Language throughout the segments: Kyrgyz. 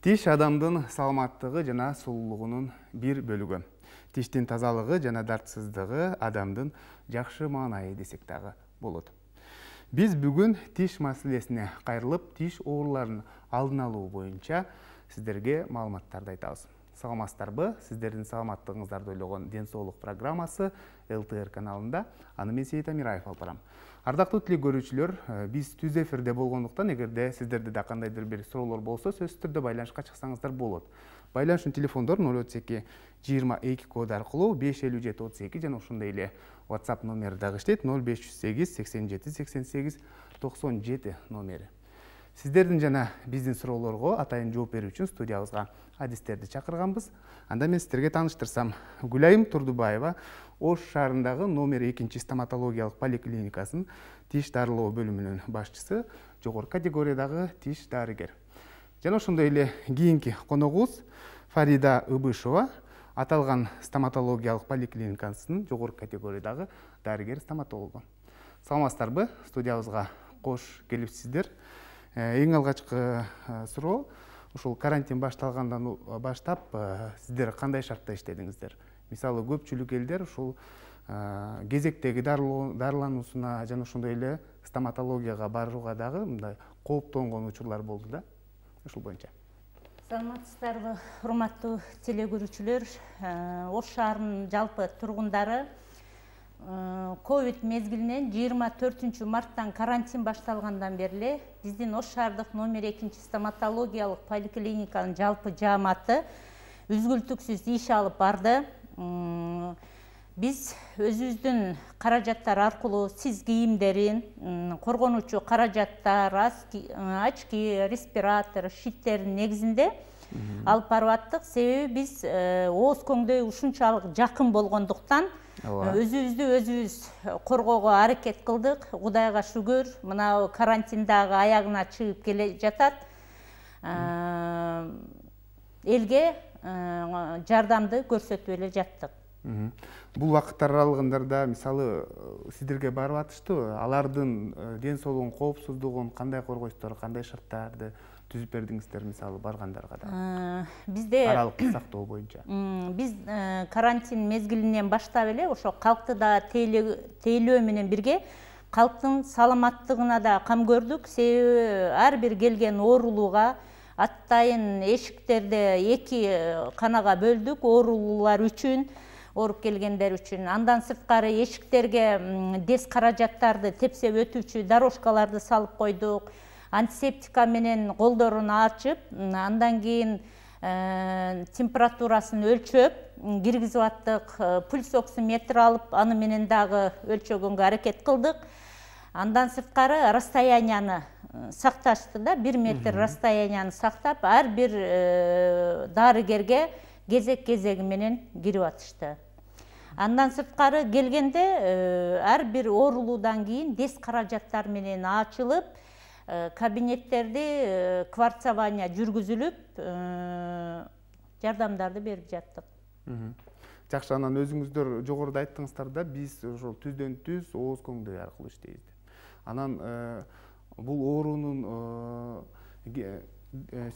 Тиш адамдын саламаттыгы жана сулуулугунун бир бөлүгү. Тиштин тазалыгы жана дартсыздыгы адамдын жакшы маанайы десек дагы болот. Биз бүгүн тиш маселесине кайрылып, тиш ооруларын алдын алуу боюнча сиздерге маалыматтарды айтабыз. Саламатсыздарбы? Сиздердин саламаттыгыңыздарды ойлогон Ден соолук программасы ЛТР каналында. Аны мен Сейит Амираев алып барам. Ардактуу тилек көрүүчүлөр, биз түз эфирде болгондуктан, эгерде сиздерде да кандайдыр бир суроолор болсо, сөзсүз түрдө байланышка чыксаңыздар болот. Байланыштын телефондор 032 22 коду аркылуу 557 32 жана ошондой эле WhatsApp номери дагы иштейт 0508 87 88 97 номери. Сиздердин жана биздин суроолорго атайын жооп берүү үчүн студиябызга адистерди чакырганбыз. Анда мен сиздерге тааныштырсам, Гүлайым Турдубаева Ош шаарындагы номер 2 стоматологиялык поликлиникасынын тиш дарылоо бөлүмүнүн башчысы, жогорку категориядагы тиш дарыгер. Жана ошондой эле кийинки коногубуз Фарида Ыбышева, аталган стоматологиялык поликлиникасынын жогорку категориядагы дарыгер-стоматологу. Саламатсыздарбы? Студиябызга кош келипсиздер. Эң алгачкы суроо, ушул карантин башталгандан баштап сиздер кандай шартта иштедиңиздер? Мисалы, көпчүлүк элдер ушул кезектеги дарылануусуна жана ошондой эле стоматологияга барууга дагы мындай кооптонгон учурлар болду да. Ушул боюнча. Саламатсыздарбы, урматтуу теле көрүүчүлөр? Ош шаарынын жалпы тургундары ковид мезгилинен 24 марттан карантин башталгандан бери биздин Ош шаардык номер 2 стоматологиялык поликлиниканын жалпы жааматы үзгүлтүксүз иш алып барды. Биз өзүбүздүн каражаттар аркылуу сиз кийимдерин, коргонуучу каражаттар, очки, респиратор, щиттердин негизинде алып барып аттык. Себеби биз ооз көңдөй ушунчалык жакын болгондуктан өзүбүздү өзүбүз коргоого аракет кылдык. Кудайга шүгүр, мына карантиндагы аягына чыгып келе жатат. Элге жардамды көрсөтүп эле жаттык. Бул убакыттар аралыгында мисалы сиздерге барып атыштыбы? Алардын ден соолугунун коопсуздугун кандай коргойсуздар, кандай шарттарды түзүп бердиңиздер мисалы баргандарга да? Бизде аралыкты сактоо боюнча. Биз карантин мезгилинен баштап эле ошо калкты да тейлөө менен бирге калктын саламаттыгына да кам көрдүк. Себеби ар бир келген оорулууга атайын эшиктерди 2 канага бөлдүк оорулуулар үчүн, ооруп келгендер үчүн. Андан сырткары эшиктерге дес каражаттарды тепсеп өтүүчү дорожкаларды салып койдук. Антисептика менен колдорун ачып, андан кийин температурасын өлчөп киргизип аттык. Пульс оксиметр алып, аны менен дагы өлчөгөнгө аракет кылдык. Андан сырткары расстоянияны сакташты да, 1 метр расстоянияны сактап, ар бир дарыгерге кезек-кезеги менен кирип атышты. Андан сырткары келгенде ар бир оорулуудан кийин дес каражаттар менен ачылып, кабинеттерди кварцование жүргүзүлүп, жардамдарды берип жаттык. Жакшы, анан өзүңүздөр жогоруда айттыңыздар да, биз ошол түздөн түз ооз көңдөй аркылуу иштейбиз. Анан бул оорунун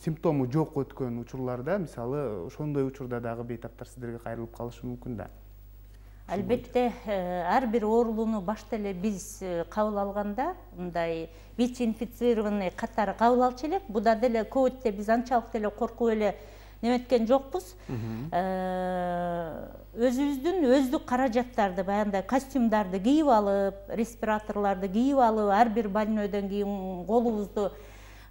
симптому жок өткөн учурларда, мисалы, ошондой учурда дагы бейтаптар сиздерге кайрылып калышы мүмкүн да. Албетте, ар бир оорулууну башта эле биз кабыл алганда, мындай ВИЧ-инфицированный катары кабыл алчу элек. Буда деле ковидте биз анчалык деле коркуп эле неметкен жокпуз. Өзүбүздүн өздүк каражаттарды, баягындай костюмдарды кийип алып, респираторлорду кийип алып, ар бир больнойдон кийин колубузду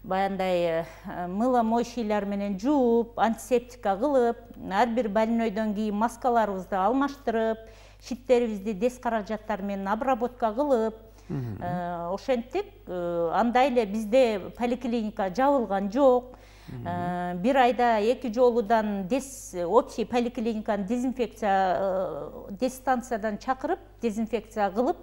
баягындай мыло-моющийлер менен жууп, антисептика кылып, ар бир больнойдон кийин маскаларыбызды алмаштырып, щиттерибизди дес каражаттар менен обработка кылып, ошентип, андай эле бизде поликлиника жабылган жок. Бир айда 2 жолудан общий поликлиниканы дистанциядан чакырып, дезинфекция кылып,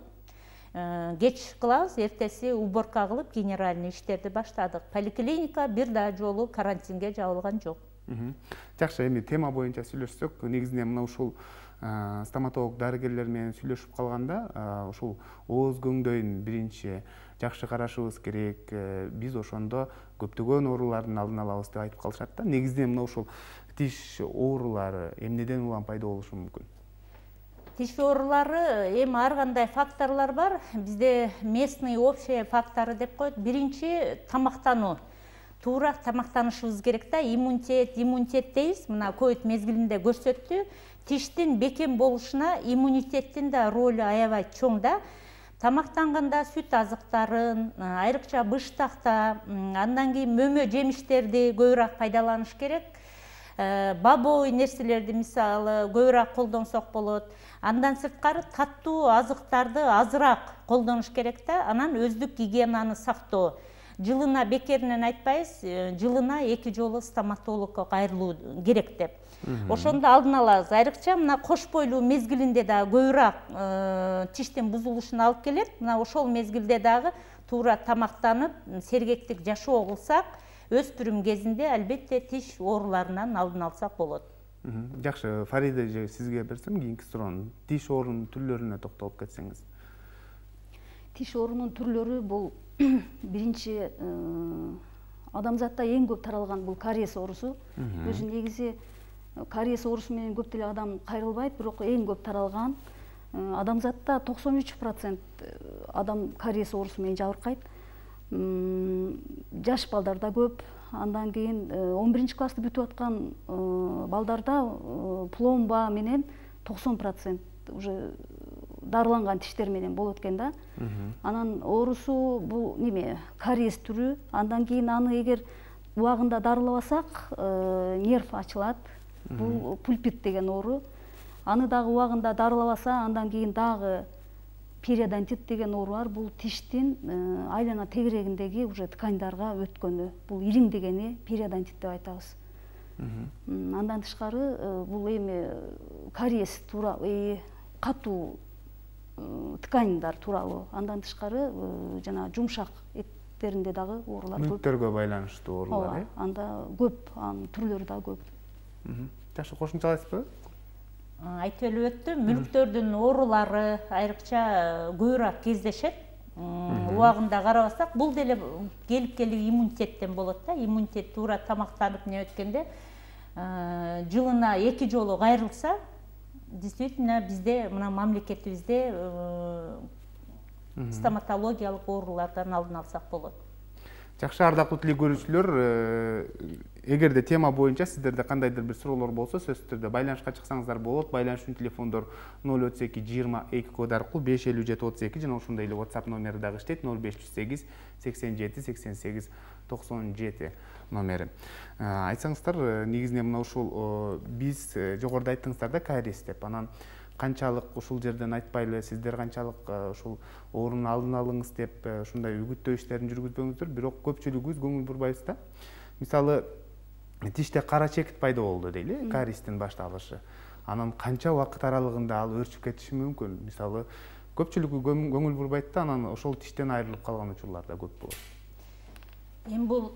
кеч кылабыз, эртеси уборка кылып, генеральный иштерди баштадык. Поликлиника бир да жолу карантинге жабылган жок. Жакшы, эми тема боюнча сүйлөшсөк, негизинен мына ушул стоматолог дарыгерлер менен сүйлөшүп калганда, ушул ооз көңдөйүн биринчи жакшы карашыбыз керек. Биз ошондо көптөгөн оорулардын алдын алабыз деп айтып калышат да. Негизинен мына ушул тиш оорулары эмнеден улам пайда болушу мүмкүн? Тиш оорулары эми ар кандай факторлор бар. Бизде местный общий факторы деп коет. Биринчи тамактануу. Туура тамактанышыбыз керек да. Иммунитет дейбиз. Мына ковид мезгилинде көрсөттү. Тиштин бекем болушуна иммунитеттин да ролу аябай чоң да. Тамактанганда сүт азыктарын, айрыкча быштакта, андан кийин мөмө жемиштерди көбүрөөк пайдаланыш керек. Бабой нерселерди мисалы көбүрөөк колдонсок болот. Андан сырткары таттуу азыктарды азыраак колдонуш керек да. Анан өздүк гигиенаны сактоо. Жылына бекеринен айтпайбыз, жылына 2 жолу стоматологко кайрылуу керек деп. Ошондо алдын алабыз. Айрыкча мына кош бойлуу мезгилинде да көбүрөөк тиштин бузулушуна алып келет. Мына ошол мезгилде дагы туура тамактанып, сергектик жашоо кылсак, өспүрүм кезинде албетте тиш ооруларынан алдын алсак болот. Жакшы, Фарида эже, сизге берсем кийинки суроону. Тиш оорунун түрлөрүнө токтолуп кетсеңиз. Тиш оорунун түрлөрү бул биринчи адамзатта эң көп таралган бул кариес оорусу. Өзү негизи кариес оорусу менен көп деле адам кайрылбайт, бирок эң көп таралган. Адамзатта 93% адам кариес оорусу менен жабыркайт. Жаш балдарда көп. Андан кийин 11 классты бүтүп аткан балдарда пломба менен 90% уже дарыланган тиштер менен болот экен да. Анан оорусу бул неме кариес түрү. Андан кийин аны эгер убагында дарылабасак, нерв ачылат. Бул пульпит деген оору. Аны дагы убагында дарылабаса, андан кийин дагы периодонтит деген оору бар. Бул тиштин айлана тегерегиндеги уже тканьдарга өткөнү. Бул ириң дегени периодонтит деп айтабыз. Андан тышкары бул эми кариес тууралуу катуу тканьдар тууралуу. Андан тышкары жана жумшак эттеринде дагы оорулар көп. Мүнөттөргө байланыштуу оорулар, анда көп, анын түрлөрү да көп. Жакшы, кошумчалайсызбы? Айтып эле өттү, мүнөттөрдүн оорулары айрыкча көбүрөөк кездешет. Убагында карабасак, бул деле келип иммунитеттен болот да. Иммунитет туура тамактанып не өткөндө жылына 2 жолу кайрылса, действительно бизде мына мамлекетибизде стоматологиялык оорулардан алдын алсак болот. Жакшы, ардактуу телекөрүүчүлөр, эгерде тема боюнча сиздерде кандайдыр бир суроолор болсо, сөзсүз түрдө байланышка чыксаңыздар болот. Байланыш үчүн телефондор 032 22 код аркылуу 55732 жана ошондой эле WhatsApp номери дагы иштейт, 0508 87 88 97 номери. Айтсаңыздар, негизинен мына ушул биз жогоруда айттыңыздар да кариес деп. Анан канчалык ушул жерден айтпайлы, сиздер канчалык ушул оорунун алдын алыңыз деп ушундай үгүттөө иштерин жүргүзбөңүздөр, бирок көпчүлүгүбүз көңүл бурбайбыз да. Мисалы, тиште кара чекит пайда болду дейли, кариестин башталышы. Анан канча убакыт аралыгында ал өрчүп кетиши мүмкүн? Мисалы, көпчүлүгү көңүл бурбайт да, анан ошол тиштен айрылып калган учурлар да көп болот. Эми бул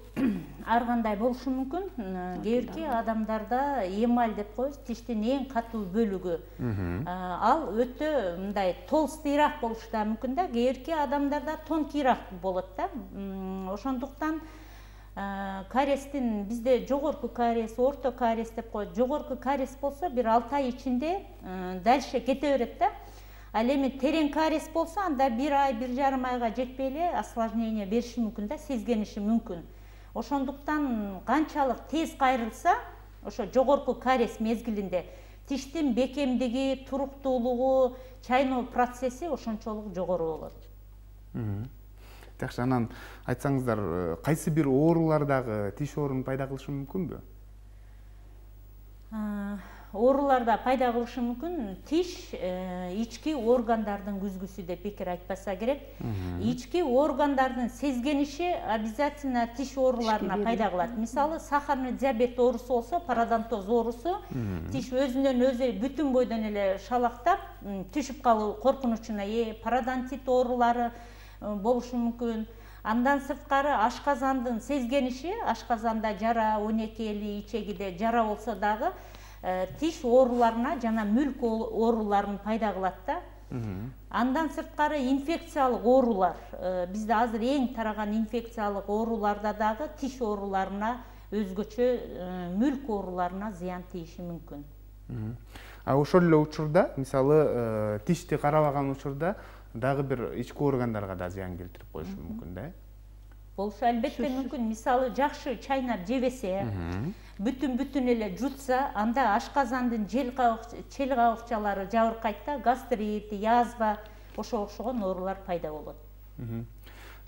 ар кандай болушу мүмкүн. Кээ бирки адамдарда эмаль деп коебуз, тиштин эң катуу бөлүгү. Ал өтө мындай толстыйраак болушу да мүмкүн да. Кээ бирки адамдарда тонкийраак болот да. Ошондуктан кариестин бизде жогорку кариес, орто кариес деп коет. Жогорку кариес болсо бир 6 ай ичинде дальше кете берет да. Ал эми терең кариес болсо, анда 1 ай, 1,5 айга жетпей эле осложнение бериши мүмкүн да, сезгениши мүмкүн. Ошондуктан канчалык тез кайрылса, ошо жогорку кариес мезгилинде тиштин бекемдиги, туруктуулугу, чайноо процесси ошончолук жогору болот. Жакшы, анан айтсаңыздар, кайсы бир оорулар дагы тиш оорун пайда кылышы мүмкүнбү? Ооруларда пайда кылышы мүмкүн. Тиш ички органдардын күзгүсү деп бекер айтпаса керек. Ички органдардын сезгениши обязательно тиш ооруларына пайда кылат. Мисалы, сахарный диабет оорусу болсо, пародонтоз оорусу, тиш өзүнөн өзү бүтүн бойдон эле шалактап, түшүп калуу коркунучуна пародонтит оорулары болушу мүмкүн. Андан сырткары ашказандын сезгениши, ашказанда жара, онекели, ичегиде жара болсо дагы тиш ооруларына жана мүлк ооруларын пайда кылат да. Андан сырткары инфекциялык оорулар, бизде азыр эң тараган инфекциялык ооруларда дагы тиш ооруларына, өзгөчө мүлк ооруларына зыян тийиши мүмкүн. Ошол эле учурда, мисалы, тишти карабаган учурда дагы бир ички органдарга да зыян келтирип коюшу мүмкүн да. Болушу албетте мүмкүн. Мисалы, жакшы чайнап жебесе, бүтүн эле жутса, анда ашказандын чел кабыкчалары жабыркайт да, гастрит, язва, ошого окшогон оорулар пайда болот.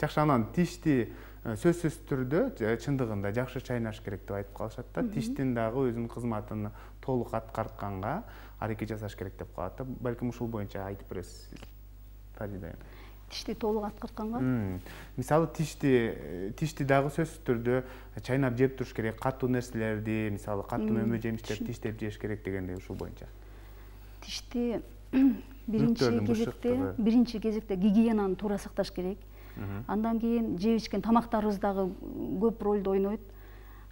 Жакшы, анан тишти сөзсүз түрдө чындыгында жакшы чайнаш керек деп айтып калышат да. Тиштин дагы өзүнүн кызматын толук аткартканга аракет жасаш керек деп калат да. Балким ушул боюнча айтып бересиз, Фаридә. Тишти толук аткартканга? Мисалы, тишти дагы сөзсүз түрдө чайнап жеп туруш керек, катуу нерселерди, мисалы, катуу мөмө жемиштерди тиштеп жеш керек дегендей, ушул боюнча. Тишти биринчи кезекте гигиенаны туура сакташ керек. Андан кийин жеп ичкен тамактарыбыз дагы көп ролду ойнойт.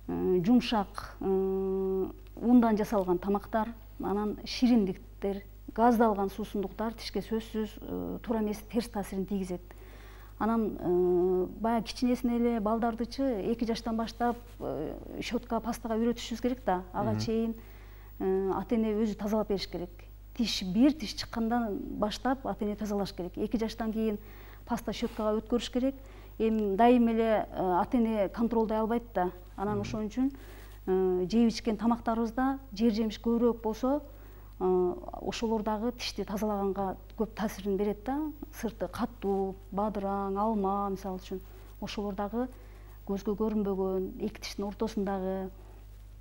Жумшак, ундан жасалган тамактар, анан шириндиктер, газдалган суусундуктар тишке сөзсүз туура эмес терс таасирин тийгизет. Анан баягы кичинесинен эле балдардычы 2 жаштан баштап щетка, пастага үйрөтүшүбүз керек да. Ага чейин ата-эне өзү тазалап бериш керек. Бир тиш чыккандан баштап ата-эне тазалаш керек. 2 жаштан кийин паста, щеткага өткөрүш керек. Эми дайым эле ата-эне контролдой албайт да. Анан ошон үчүн жеп ичкен тамактарыбызда жемиш көбүрөөк болсо, ошолор дагы тишти тазалаганга көп таасирин берет да. Сырты катуу, бадыраң, алма мисалы үчүн, ошолор дагы көзгө көрүнбөгөн, 2 тиштин ортосундагы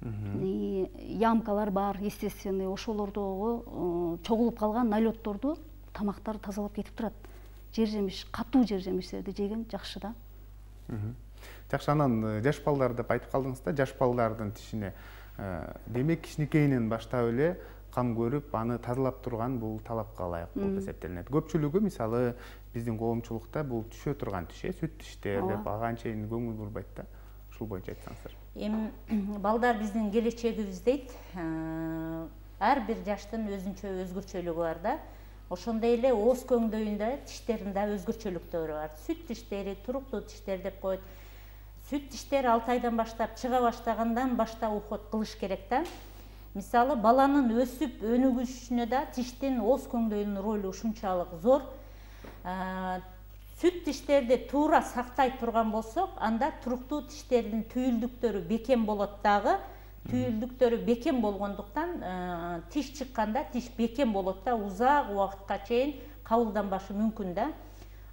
ямкалар бар, естественный, ошолордогу чогулуп калган налетторду тамактар тазалап кетип турат. Жемиш, катуу жемиштерди жеген жакшы да. Жакшы, анан жаш балдар деп айтып калдыңыз да, жаш балдардын тишине демек кичинекейинен баштап эле кам көрүп, аны тазалап турган бул талапка ылайык болуп эсептелинет. Көпчүлүгү мисалы биздин коомчулукта бул түшө турган тиш, сүт тиштер деп ага анчейин көңүл бурбайт да. Ушул боюнча айтсаңыздар. Эми балдар биздин келечегибиз дейт. Ар бир жаштын өзгөчөлүгү бар да. Ошондой эле ооз көңдөйүндө тиштерин да өзгөчөлүктөрү бар. Сүт тиштери, туруктуу тиштер деп коет. Сүт тиштер 6 айдан баштап чыга баштагандан баштап уход кылыш керек да. Мисалы, баланын өсүп өнүгүшүнө да тиштин ооз көңдөйүнүн ролу ушунчалык зор. Сүт тиштерди туура сактай турган болсок, анда туруктуу тиштердин түйүлдүктөрү бекем болот дагы. Түйүлдүктөрү бекем болгондуктан тиш чыкканда тиш бекем болот да, узак убакытка чейин кабылданбашы мүмкүн да.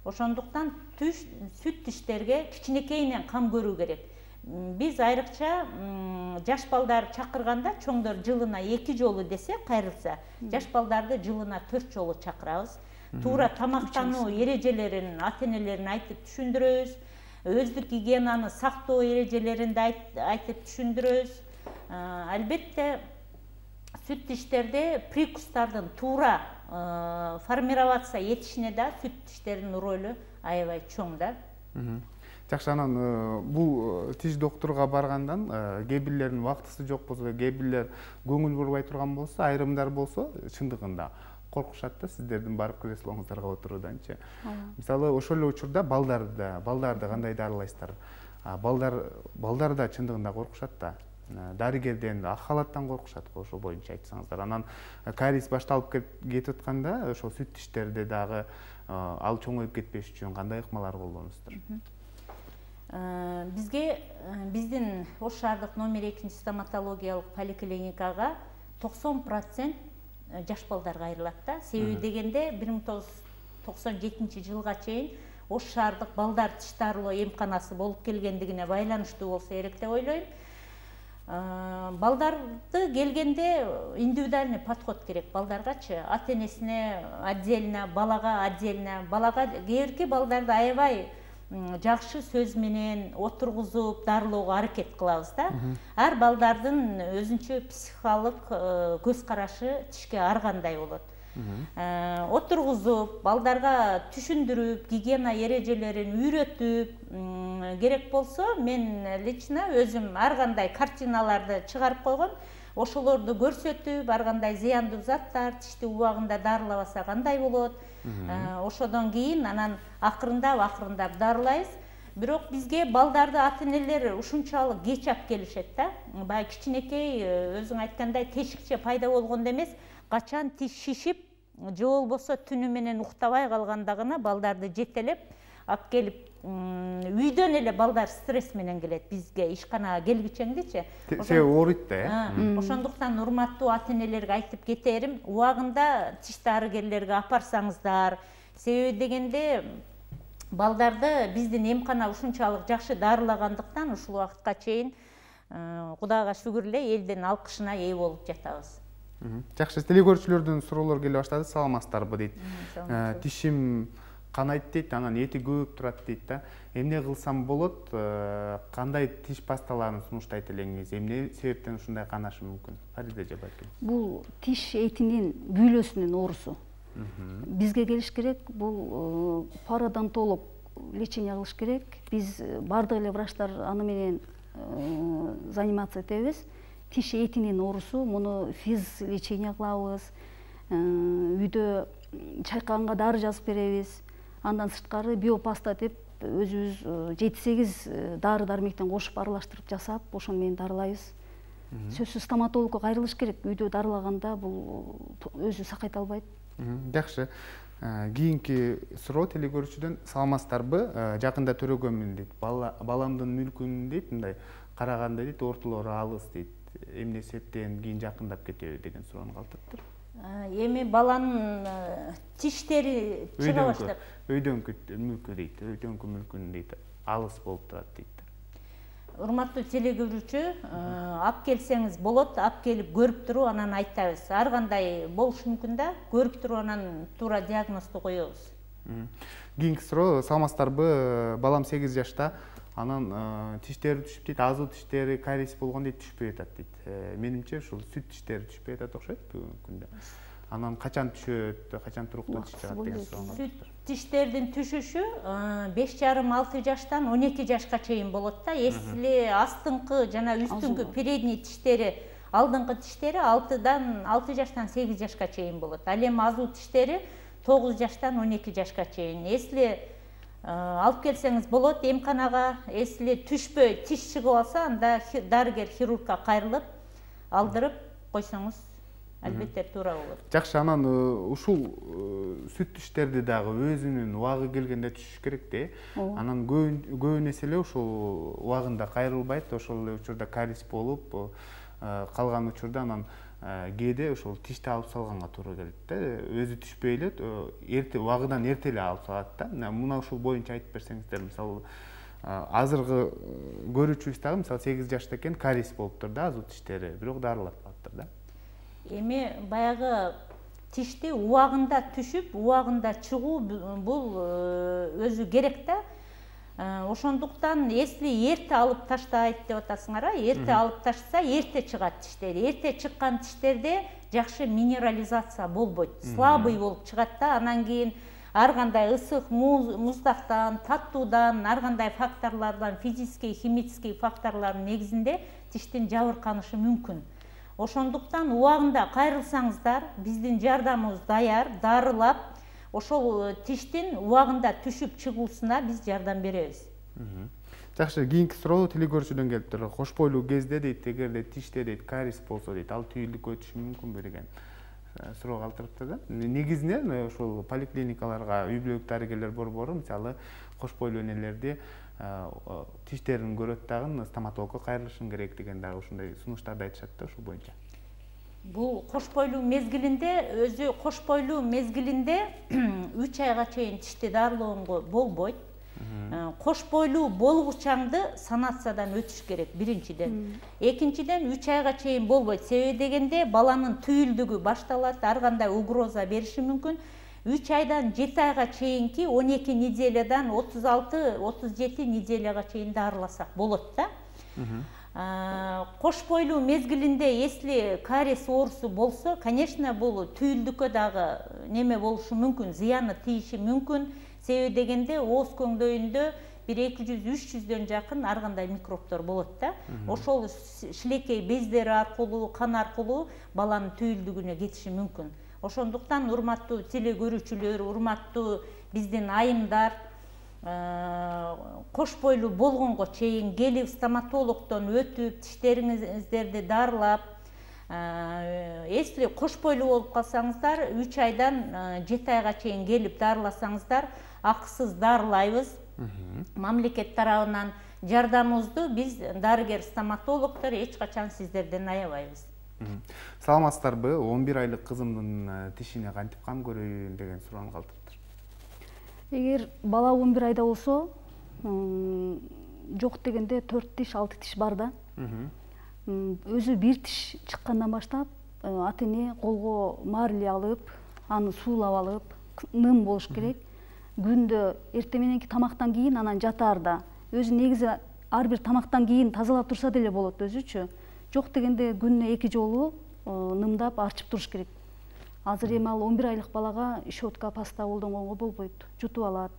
Ошондуктан сүт тиштерге кичинекейинен кам көрүү керек. Биз айрыкча жаш балдар чакырганда чоңдор жылына 2 жолу десе кайрылса, жаш балдарды жылына 4 жолу чакырабыз. Туура тамактануу эрежелерин ата-энелерин айтып түшүндүрөбүз. Өздүк гигиенаны сактоо эрежелерин айтып түшүндүрөбүз. Албетте сүт тиштерде прикустардын туура формироваться этишине да сүт тиштердин ролу аябай чоң да. Жакшы, анан бул тиш доктурга баргандан кээ бирлердин убактысы жок болсо, кээ бирлер көңүл бурбай турган болсо, айрымдар болсо, чындыгында коркушат да сиздердин барып креслоңуздарга отурууданчы. Мисалы, ошол эле учурда балдарды кандай дарылайсыздар? Балдар да чындыгында коркушат да. Дарыгерден, ак халаттан коркушат, ошол боюнча айтсаңыздар. Анан кариес башталып кетип атканда, ошол сүт тиштерде дагы ал чоңоюп кетпеш үчүн кандай ыкмалар колдоносуздар? Биздин Ош шаардык номер 2 стоматологиялык поликлиникага 90% жаш балдарга айрылат да. Себеби дегенде 1997 жылга чейин Ош шаардык балдар тиш дарылоо эмканасы болуп келгендигине байланыштуу болсо керек деп ойлойм. Балдарды келгенде индивидуальный подход керек балдаргачы. Ата-энесине отдельно, балага отдельно. Балага кээ балдарды аябай жакшы сөз менен отургузуп дарылоого аракет кылабыз да. Ар балдардын өзүнчө психикалык көз карашы тишке ар кандай болот. Отургузуп, балдарга түшүндүрүп, гигиена эрежелерин үйрөтүп, керек болсо мен лично өзүм ар кандай картиналарды чыгарып койгом. ошолорду көрсөтүп, ар кандай зыяндуу заттар тишти убагында дарылабаса кандай болот, ошодон кийин анан акырындап дарылайбыз. Бирок бизге балдарды ата-энелер ушунчалык кеч алып келишет да. Баягы кичинекей өзүң айткандай тешикче пайда болгондо эмес, качан тиш шишип, же болбосо түнү менен уктабай калганда гана балдарды жетелеп алып келип, үйдөн эле балдар стресс менен келет бизге, ишканага келгичеңдичи. Себеби ооруйт да, Ошондуктан урматтуу ата-энелерге айтып кетерим, убагында тиш дарыгерлерге апарсаңыздар. Себеби дегенде балдарды биздин эмкана ушунчалык жакшы дарылагандыктан ушул убакытка чейин Кудайга шүгүр эле элдин алкышына ээ болуп жатабыз. Жакшы, телекөрүүчүлөрдөн суроолор келе баштады. Саламатсыздарбы дейт. Тишим канайт дейт, анан эти көөп турат дейт да. Эмне кылсам болот? Кандай тиш пасталарын сунуштайт элеңиз? Эмне себептен ушундай канашы мүмкүн? Фарида эже балким. Бул тиш этинин бүйлөсүнүн оорусу. Бизге келиш керек, бул пародонтолог лечение кылыш керек. Биз бардык эле врачтар аны менен заниматься этебиз. Тиш этинин оорусу, муну физ лечение кылабыз. Үйдө чайкаганга дары жазып беребиз. Андан сырткары биопаста деп өзүбүз 7-8 дары дармектен кошуп аралаштырып жасап, ошону менен дарылайбыз. Сөзсүз стоматологко кайрылыш керек. Үйдө дарылаганда бул өзү сакайта албайт. Жакшы. Кийинки суроо телекөрүүчүдөн: саламатсыздарбы? Жакында төрөгөмүн дейт. Баламдын мүлкүн дейт, мындай караганда дейт, ортолору алыс дейт. Эмне себептен кийин жакындап кетеби деген суроону калтырыптыр. Эми баланын тиштери чыга баштап. Өйдөнкү мүлкү дейт, өйдөнкү мүлкүн дейт, алыс болуп турат дейт. Урматтуу телекөрүүчү, алып келсеңиз болот, алып келип көрүп туруп анан айтабыз. Ар кандай болушу мүмкүн да, көрүп туруп анан туура диагнозду коебуз. Кийинки суроо: саламатсыздарбы? Балам 8 жашта. Анан тиштери түшүп дейт, азуу тиштери кариес болгон дейт, түшпөй атат дейт. Менимче ушул сүт тиштери түшпөй атат окшойт бүгүнкү күндө. Анан качан түшөт, качан туруктуу тиш чыгат деген суроо. Сүт тиштердин түшүшү 5,5-6 жаштан 12 жашка чейин болот да. Эсли астыңкы жана үстүңкү передний тиштери, алдыңкы тиштери 6 жаштан 8 жашка чейин болот. Ал эми азуу тиштери 9 жаштан 12 жашка чейин. Эсли алып келсеңиз болот эмканага. Эсли түшпөй тиш чыгып алса, анда дарыгер хирургка кайрылып алдырып койсоңуз албетте туура болот. Жакшы, анан ушул сүт тиштерди дагы өзүнүн убагы келгенде түшүш керек да. Анан көбүн эсе эле ушул убагында кайрылбайт, ошол эле учурда кариес болуп, калган учурда анан кээде ушул тишти алып салганга туура келет да. Өзү түшпөй эле убагыдан эрте эле алып салат да. Муна ушул боюнча айтып берсеңиздер, мисалы азыркы көрүүчүбүз дагы мисалы 8 жашта экен, кариес болуптур да азуу тиштери, бирок дарылатпаптыр да. Эми баягы тишти убагында түшүп, убагында чыгуу бул өзү керек да. Ошондуктан если эрте алып таштайт деп атасыңар, эрте алып ташса эрте чыгат тиштери. Эрте чыккан тиштерде жакшы минерализация болбойт, слабый болуп чыгат да. Анан кийин ар кандай ысык, муздактан, таттуудан, ар кандай факторлордон, физический, химический факторлордун негизинде тиштин жабырканышы мүмкүн. Ошондуктан убагында кайрылсаңыздар, биздин жардамыбыз даяр, дарылап, ошол тиштин убагында түшүп чыгуусуна биз жардам беребиз. Жакшы, кийинки суроо телекөрүүчүдөн келиптир. Кош бойлуу кезде дейт, эгерде тиште дейт кариес болсо дейт, ал түйүлдүккө өтүшү мүмкүнбү деген суроо калтырыптыр да. Негизинен ошол поликлиникаларга үй бүлөлүк дарыгерлер борбору мисалы кош бойлуу энелерди тиштерин көрөт дагы стоматологко кайрылышың керек деген дагы ушундай сунуштарды айтышат да ушул боюнча. Бул кош бойлуу мезгилинде, өзү кош бойлуу мезгилинде 3 айга чейин тишти дарылоого болбойт. Кош бойлуу болгучаңды санациядан өтүш керек биринчиден. Экинчиден 3 айга чейин болбойт. Себеби дегенде баланын түйүлдүгү башталат, ар кандай угроза бериши мүмкүн. 3 айдан 7 айга чейинки 12 неделядан 36-37 неделяга чейин дарыласак болот да. Кош бойлуу мезгилинде если кариес оорусу болсо, конечно, бул түйүлдүккө дагы неме болушу мүмкүн, зыяны тийиши мүмкүн. Себеби дегенде ооз көңдөйүндө бир 200–300дөн жакын ар кандай микробдор болот да. Ошол шилекей бездери аркылуу, кан аркылуу баланын түйүлдүгүнө кетиши мүмкүн. Ошондуктан урматтуу теле көрүүчүлөр, урматтуу биздин айымдар, кош бойлуу болгонго чейин келип стоматологдон өтүп, тиштериңиздерди дарылап, если кош бойлуу болуп калсаңыздар, 3 айдан 7 айга чейин келип дарыласаңыздар, акысыз дарылайбыз. Мамлекет тарабынан жардамыбызды биз дарыгер стоматологдор эч качан сиздерден аябайбыз. Саламатсыздарбы? 11 айлык кызымдын тишине кантип кам көрөйүн деген суроо калтырыптыр. Эгер бала 11 айда болсо, жок дегенде 4 тиш, 6 тиш бар да. Өзү бир тиш чыккандан баштап, ата-эне колго марли алып, аны суулап алып, ным болуш керек. Күндө эртең мененки тамактан кийин анан жатаарда. Өзү негизи ар бир тамактан кийин тазалап турса деле болот өзүчү. Жок дегенде күнүнө 2 жолу нымдап арчып туруш керек. Азыр эми ал 11 айлык балага щетка, паста колдонгонго болбойт, жутуп алат.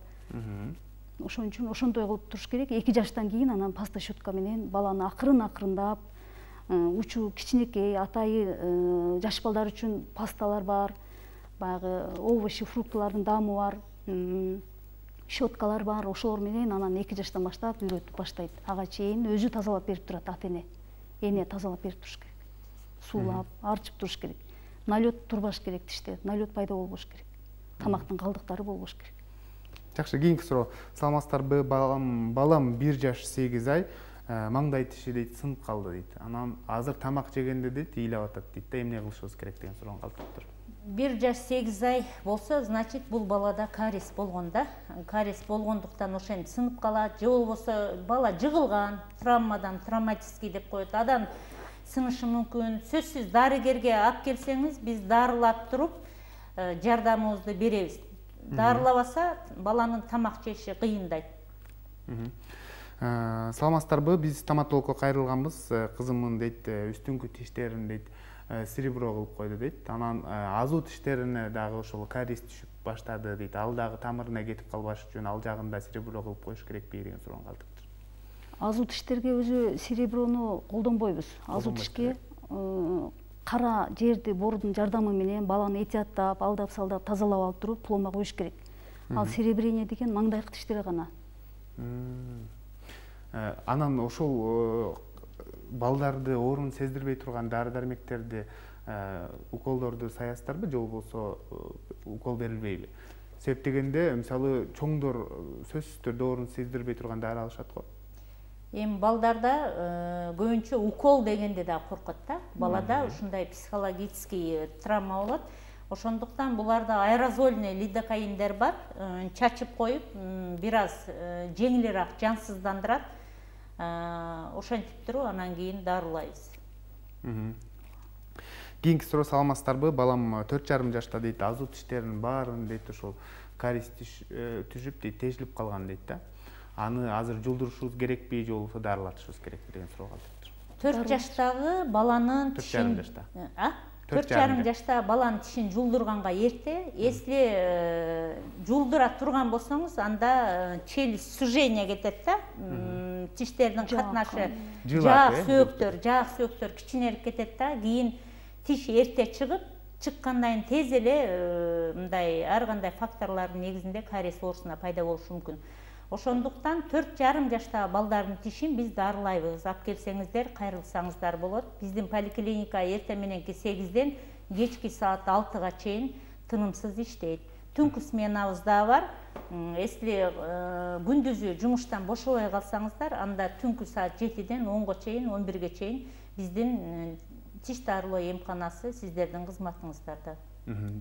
Ошон үчүн ошондой кылып туруш керек. 2 жаштан кийин анан паста щетка менен баланы акырын-акырындап, учу кичинекей, атайы жаш балдар үчүн пасталар бар, баягы овощи, фруктылардын даамы бар, щеткалар бар. Ошолор менен анан 2 жаштан баштап үйрөтүп баштайт. Ага чейин өзү тазалап берип турат ата-эне. Эне тазалап берип туруш керек. Суулап, арчып туруш керек. Налет турбаш керек тиште, налет пайда болбош керек. Тамактын калдыктары болбош керек. Жакшы, кийинки суроо. Саламатсыздарбы? Балам 1 жаш 8 ай, маңдай тиши дейт сынып калды дейт. Анан азыр тамак жегенде дейт ыйлап атат дейт да, эмне кылышыбыз керек деген суроо калтырыптыр. 1 жаш 8 ай болсо, значит, бул балада кариес болгон да. Кариес болгондуктан ошентип сынып калат, же болбосо бала жыгылган, травмадан, травматический деп коет. Адам сынышы мүмкүн. Сөзсүз дарыгерге алып келсеңиз, биз дарылап туруп, жардамыбызды беребиз. Дарылабаса, баланын тамак жеши кыйындайт. Саламатсыздарбы? Биз стоматологко кайрылганбыз. Кызымдын дейт, үстүңкү тиштерин дейт серебро кылып койду дейт. Анан азуу тиштерине дагы ошол кариес түшүп баштады дейт. Ал дагы тамырына кетип калбаш үчүн ал жагында серебро кылып коюш керекпи деген суроо калтырыптыр. Азуу тиштерге өзү сереброну колдонбойбуз. Азуу тишке кара жерди бордун жардамы менен баланы этияттап, алдап-салдап, тазалап алып туруп пломба коюш керек. Ал серебрение деген маңдайкы тиштерге гана. Анан ошол балдарды оорун сездирбей турган дары-дармектерди, уколдорду саясыздарбы, же болбосо укол берилбейби? Себеп дегенде, мисалы, чоңдор сөзсүз түрдө оорун сездирбей турган дары алышат го. Эми балдарда көбүнчө укол дегенде да коркот да. Балада ушундай психологический травма болот. Ошондуктан буларда аэрозольный лидокаиндер бар, чачып коюп, бир аз жеңилирээк жансыздандырат. Ошентип туруп анан кийин дарылайбыз. Кийинки суроо. Саламатсыздарбы? Балам 4,5 жашта дейт, азуу тиштеринин баарын дейт ошол кариес түшүп дейт, тешилип калган дейт да. Аны азыр жулдурушубуз керекпи, же болбосо дарылатышыбыз керекпи деген суроо калтырыптыр. 4 жаштагы баланын тишин 4,5 жашта баланын тишин жулдурганга эрте. Если жулдура турган болсоңуз, анда челюсть сужение кетет да. Тиштердин катнашы жаак сөөктөр кичинелип кетет да. Кийин тиш эрте чыгып, чыккандан тез эле мындай ар кандай факторлордун негизинде кариес оорусуна пайда болушу мүмкүн. Ошондуктан 4,5 жаштагы балдардын тишин биз дарылайбыз. Алып келсеңиздер, кайрылсаңыздар болот. Биздин поликлиника эртең мененки 8ден кечки саат 6га чейин тынымсыз иштейт. Түнкү сменабыз да бар. Если күндүзү жумуштан бошобой калсаңыздар, анда түнкү саат 7ден 10га чейин, 11ге чейин биздин тиш дарылоо эмканасы сиздердин кызматыңыздарда.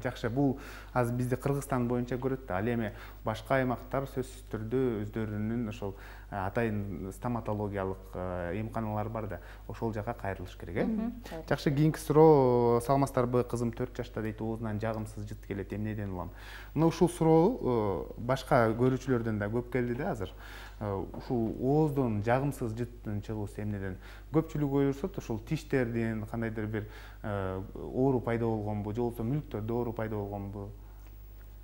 Жакшы, бул азыр бизде Кыргызстан боюнча көрөт да. Ал эми башка аймактар сөзсүз түрдө өздөрүнүн ошол атайын стоматологиялык эмканалар бар да. Ошол жака кайрылыш керек, э? Жакшы, кийинки суроо. Саламатсыздарбы? Кызым 4 жашта дейт, оозунан жагымсыз жыт келет, эмнеден улам? Мына ушул суроо башка көрүүчүлөрдөн да көп келди да азыр. Ушул ооздон жагымсыз жыттын чыгуусу эмнеден? Көпчүлүк ойлошот, ушул тиштердин кандайдыр бир оору пайда болгонбу, же болбосо мүлктөрдө оору пайда болгонбу?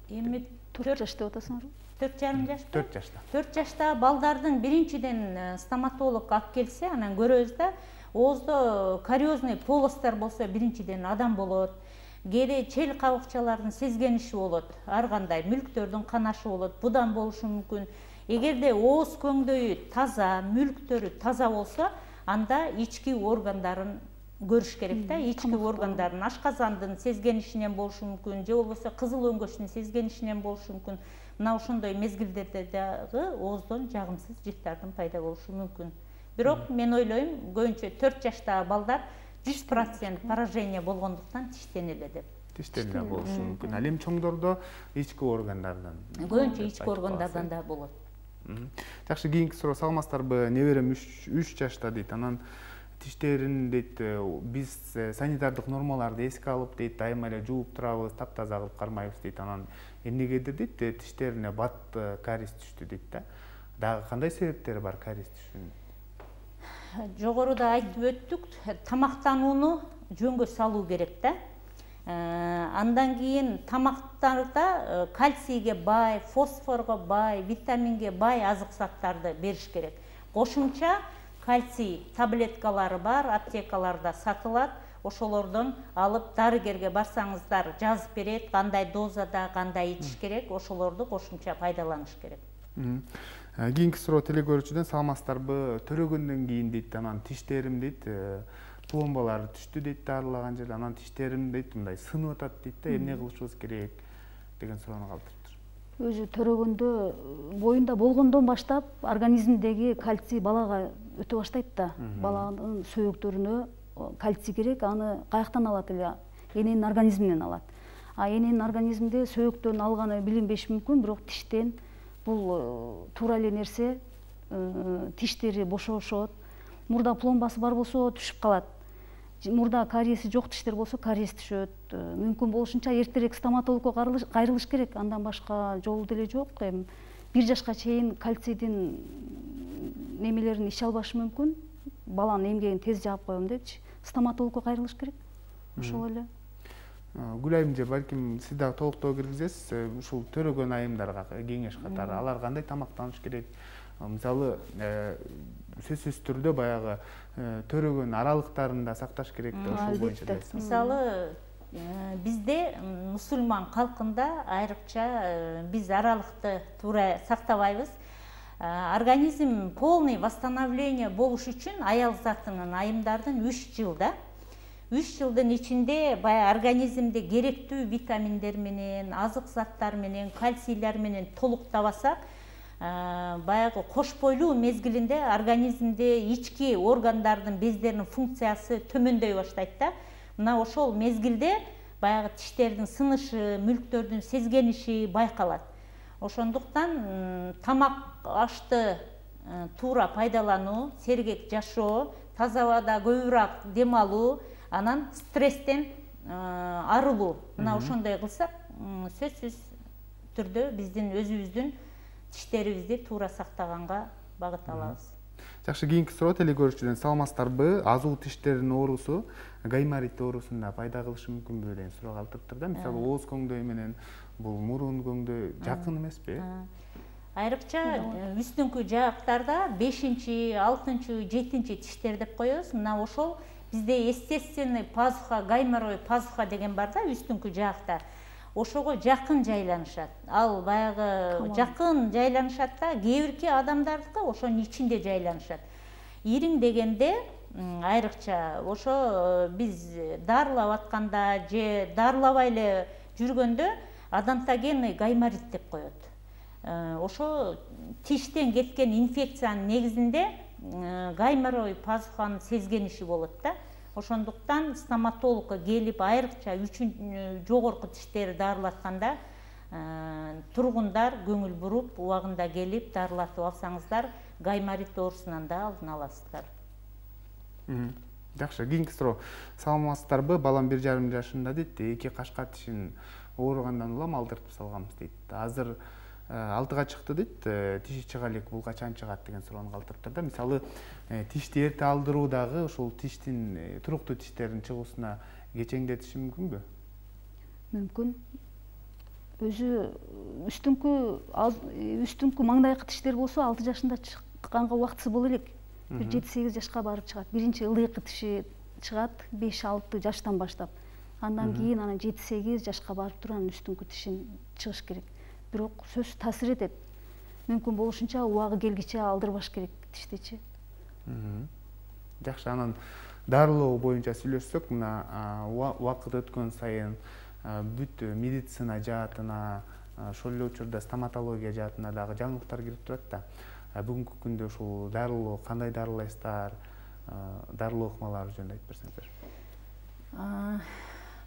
Эми 4 жаш деп атасыңарбы? 4,5 жашта. 4 жашта. 4 жашта балдардын биринчиден стоматолог алып келсе, анан көрөбүз да, ооздо кариозный полостар болсо биринчиден адам болот. Кээде чел кабыкчалардын сезгениши болот, ар кандай мүлктөрдүн канашы болот, будан болушу мүмкүн. Эгерде ооз көңдөйү таза, мүлктөрү таза болсо, анда ички органдарын көрүш керек да. Ички органдарын ашказандын сезгенишинен болушу мүмкүн, же болбосо кызыл өңгөчтүн сезгенишинен болушу мүмкүн. Мына ошондой мезгилдерде дагы ооздон жагымсыз жыттардын пайда болушу мүмкүн. Бирок мен ойлойм, көбүнчө 4 жаштагы балдар 100% поражение болгондуктан тиштенеле деп. Тиштенеле болушу мүмкүн. Ал эми чоңдордо ички органдардан. Көбүнчө ички органдардан да болот. Жакшы, кийинки суроо, саламатсыздарбы? Неберем 3 жашта дейт. Анан тиштерин дейт, биз санитардык нормаларды эске алып дейт, дайыма эле жууп турабыз, таптаза кылып кармайбыз дейт. Анан эмнегедир дейт, тиштерине бат кариес түштү дейт да. Дагы кандай себептери бар кариес түшүүнүн? Жогоруда айтып өттүк, тамактанууну жөнгө салуу керек да. Андан кийин тамактарда кальцийге бай, фосфорго бай, витаминге бай азык заттарды бериш керек. Кошумча кальций таблеткалары бар, аптекаларда сатылат. Ошолордон алып дарыгерге барсаңыздар жазып берет, кандай дозада, кандай ичиш керек, ошолорду кошумча пайдаланыш керек. Кийинки суроо телекөрүүчүдөн, саламатсыздарбы? Төрөгөндөн кийин дейт, анан тиштерим дейт, пломбалар түштү дейт, дарылаган жерде, анан тиштерим дейт, мындай сынып атат дейт да, эмне кылышыбыз керек деген суроону калтырыптыр. Өзү төрөгөндө боюнда болгондон баштап организмдеги кальций балага өтө баштайт да. Баланын сөөктөрүнө кальций керек, аны каяктан алат эле? Эненин организминен алат. Эненин организмде сөөктөн алганы билинбеши мүмкүн, бирок тиштен бул туура эле нерсе. Тиштери бошошот. Мурда пломбасы бар болсо түшүп калат. Мурда кариеси жок тиштер болсо кариес түшөт. Мүмкүн болушунча эртерээк стоматологко кайрылыш керек. Андан башка жолу деле жок. 1 жашка чейин кальцийдин немелерин иче албашы мүмкүн. Баланын эмгегин тез жаап коем депчи. Стоматологко кайрылыш керек. Ошол эле. Гүлайым же, балким сиз дагы толуктоо киргизесиз. Ушул төрөгөн айымдарга кеңеш катары алар кандай тамактаныш керек? Мисалы, сөзсүз түрдө баягы төрөгөн аралыктарында сакташ керек да, ошол боюнча десем. Мисалы, бизде мусулман калкында айрыкча биз аралыкты туура сактабайбыз. Организм полный восстановление болуш үчүн аял затынын, айымдардын 3 жылда 3 жылдын ичинде баягы организмде керектүү витаминдер менен, азык заттар менен, кальцийлер менен толуктабасак, баягы кош бойлуу мезгилинде организмде ички органдардын бездеринин функциясы төмөндөй баштайт да. Мына ошол мезгилде баягы тиштердин сынышы, мүлктөрдүн сезгениши байкалат. Ошондуктан тамак ашты туура пайдалануу, сергек жашоо, таза абада көбүрөөк дем алуу, анан стресстен арылуу. Мына ошондой кылсак, сөзсүз түрдө биздин өзүбүздүн тиштерибизди туура сактаганга багыт алабыз. Жакшы, кийинки суроо телекөрүүчүдөн, саламатсыздарбы? Азуу тиштердин оорусу гайморит оорусуна пайда кылышы мүмкүнбү деген суроо калтырыптыр да. Мисалы, ооз көңдөй менен бул мурун көңдөй жакын эмеспи? Айрыкча үстүңкү жаактарда 5-6, 7 тиштер деп коебуз. Мына ошол бизде естественный пазуха, гайморой пазуха деген бар да, үстүңкү жаакта. Ошого жакын жайланышат. Ал баягы жакын жайланышат да, кээ бирки адамдардыкы ошонун ичинде жайланышат. Ириң дегенде айрыкча ошо биз дарылап атканда же дарылабай эле жүргөндө адонтогенный гайморит деп коет. Ошо тиштен кеткен инфекциянын негизинде гайморой пазуханын сезгениши болот да. Ошондуктан стоматологко келип айрыкча жогорку тиштерди дарылатканда тургундар көңүл буруп, убагында келип дарылатып алсаңыздар, гайморит оорусунан да алдын аласыздар. Жакшы, кийинки суроо. Саламатсыздарбы? Балам 1,5 жашында дейт, 2 кашка тишин ооругандан улам алдыртып салганбыз дейт. Азыр 6га чыкты дейт, тиши чыга элек, бул качан чыгат деген суроону калтырыптыр да. Мисалы, тишти эрте алдыруу дагы ушул тиштин, туруктуу тиштердин чыгуусуна кечеңдетиши мүмкүнбү? Мүмкүн. өзү үстүңкү маңдайкы тиштер болсо 6 жашында чыкканга убактысы боло элек. Бир 7-8 жашка барып чыгат. Биринчи ылдыйкы тиши чыгат 5-6 жаштан баштап. Андан кийин анан 7-8 жашка барып туруп анан үстүңкү тишин чыгыш керек. Бирок сөзсүз таасир этет. Мүмкүн болушунча убагы келгиче алдырбаш керек тиштичи. Жакшы, анан дарылоо боюнча сүйлөшсөк, мына убакыт өткөн сайын бүт медицина жаатына, ошол эле учурда стоматология жаатына дагы жаңылыктар кирип турат да. Бүгүнкү күндө ушул дарылоо кандай дарылайсыздар, дарылоо ыкмалары жөнүндө айтып берсеңиздер.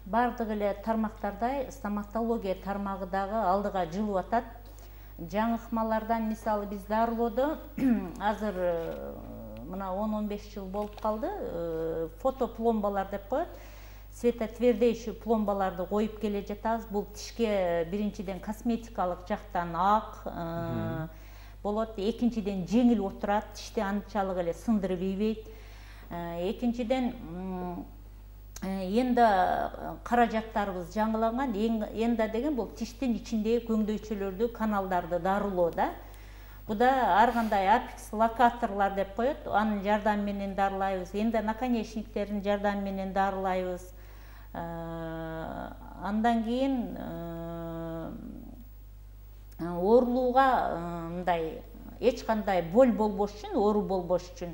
Бардык эле тармактардай стоматология тармагы дагы алдыга жылып атат. Жаңы ыкмалардан мисалы биз дарылоодо азыр мына 10-15 жыл болуп калды, фотопломбалар деп коет. Светотвердейший пломбаларды коюп келе жатабыз. Бул тишке биринчиден косметикалык жактан ак болот, экинчиден жеңил отурат, тишти анчалык эле сындырып ийбейт. Экинчиден энда каражаттарыбыз жаңыланган. Энда деген бул тиштин ичиндеги көңдөйчөлөрдү, каналдарды дарылоо да. Бу да ар кандай апекс локаторлор деп коет. Анын жардамы менен дарылайбыз. Энда наконечниктердин жардамы менен дарылайбыз. Андан кийин оорулууга мындай эч кандай боль болбош үчүн, оору болбош үчүн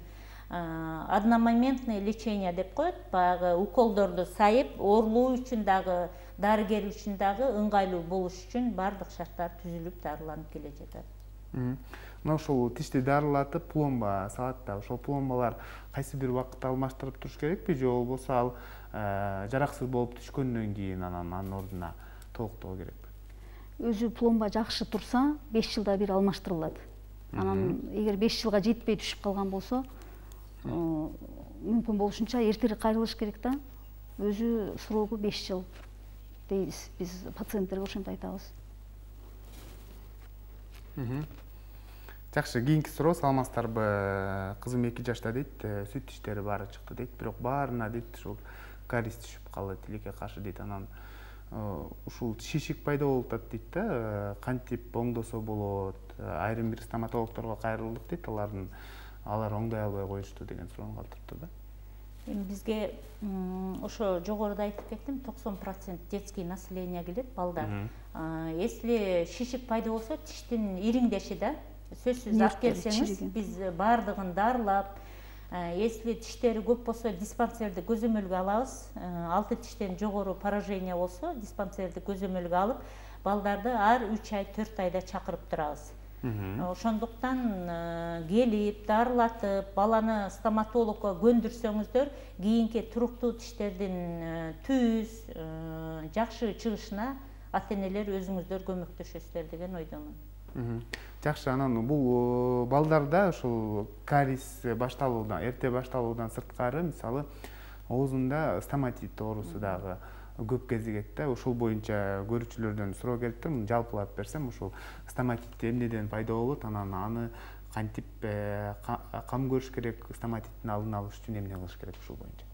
одномоментный лечение деп коет. Баягы уколдорду сайып, оорулуу үчүн дагы, дарыгер үчүн дагы ыңгайлуу болуш үчүн бардык шарттар түзүлүп, дарыланып келе жатат. Мына ушул тишти дарылатып, пломба салат да. Ошол пломбалар кайсы бир убакытта алмаштырып туруш керекпи, же болбосо ал жараксыз болуп түшкөндөн кийин анын ордуна толуктоо керекпи? Өзү пломба жакшы турса, 5 жылда бир алмаштырылат. Анан эгер 5 жылга жетпей түшүп калган болсо, мүмкүн болушунча эртерээк кайрылыш керек да. Өзү срогу 5 жыл дейбиз. Биз пациенттерге ошентип айтабыз. Жакшы, кийинки суроо, саламатсыздарбы? Кызым 2 жашта дейт, сүт тиштери баары чыкты дейт, бирок баарына дейт ушул кариес түшүп калды, тилекке каршы дейт. Анан ушул шишик пайда болуп атат дейт да, кантип оңдосо болот? Айрым бир стоматологторго кайрылдык дейт, алар оңдой албай коюшту деген суроону калтырыптыр да. Бизге ошо жогоруда айтып кеттим, 90% детский население келет, балдар. Если шишик пайда болсо, тиштин ириңдеши да, сөзсүз алып келсеңиз, биз бардыгын дарылап, если тиштери көп болсо, диспансерди көзөмөлгө алабыз. 6 тиштен жогору поражение болсо, диспансерди көзөмөлгө алып, балдарды ар 3 ай, 4 айда чакырып турабыз. Ошондуктан келип, дарылатып, баланы стоматологко көндүрсөңүздөр, кийинки туруктуу тиштердин түз, жакшы чыгышына ата-энелер өзүңүздөр көмөктөшөсүздөр деген ойдомун. Жакшы, анан бул балдарда ушул кариес башталуудан, эрте башталуудан сырткары, мисалы, оозунда стоматит оорусу дагы көп кезигет да. Ушул боюнча көрүүчүлөрдөн суроо келип тур. Жалпылап берсем, ушул стоматит эмнеден пайда болот, анан аны кантип кам көрүш керек, стоматиттин алдын алыш үчүн эмне кылыш керек ушул боюнча?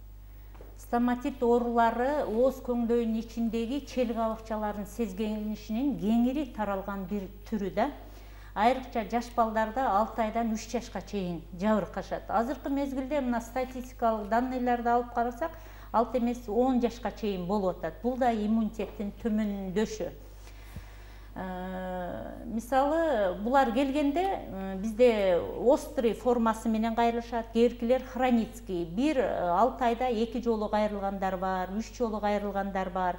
Стоматит оорулары ооз көңдөйүнүн ичиндеги чел кабыкчалардын сезгенишинин кеңири таралган бир түрү да. Айрыкча жаш балдарда 6 айдан 3 жашка чейин жабыркашат. Азыркы мезгилде мына статистикалык данныйларды алып карасак, 6 эмес 10 жашка чейин болуп атат. Бул да иммунитеттин төмөндөшү. Мисалы, булар келгенде бизде острый формасы менен кайрылышат, кээбиркилер хроницкий. 6 айда 2 жолу кайрылгандар бар, 3 жолу кайрылгандар бар.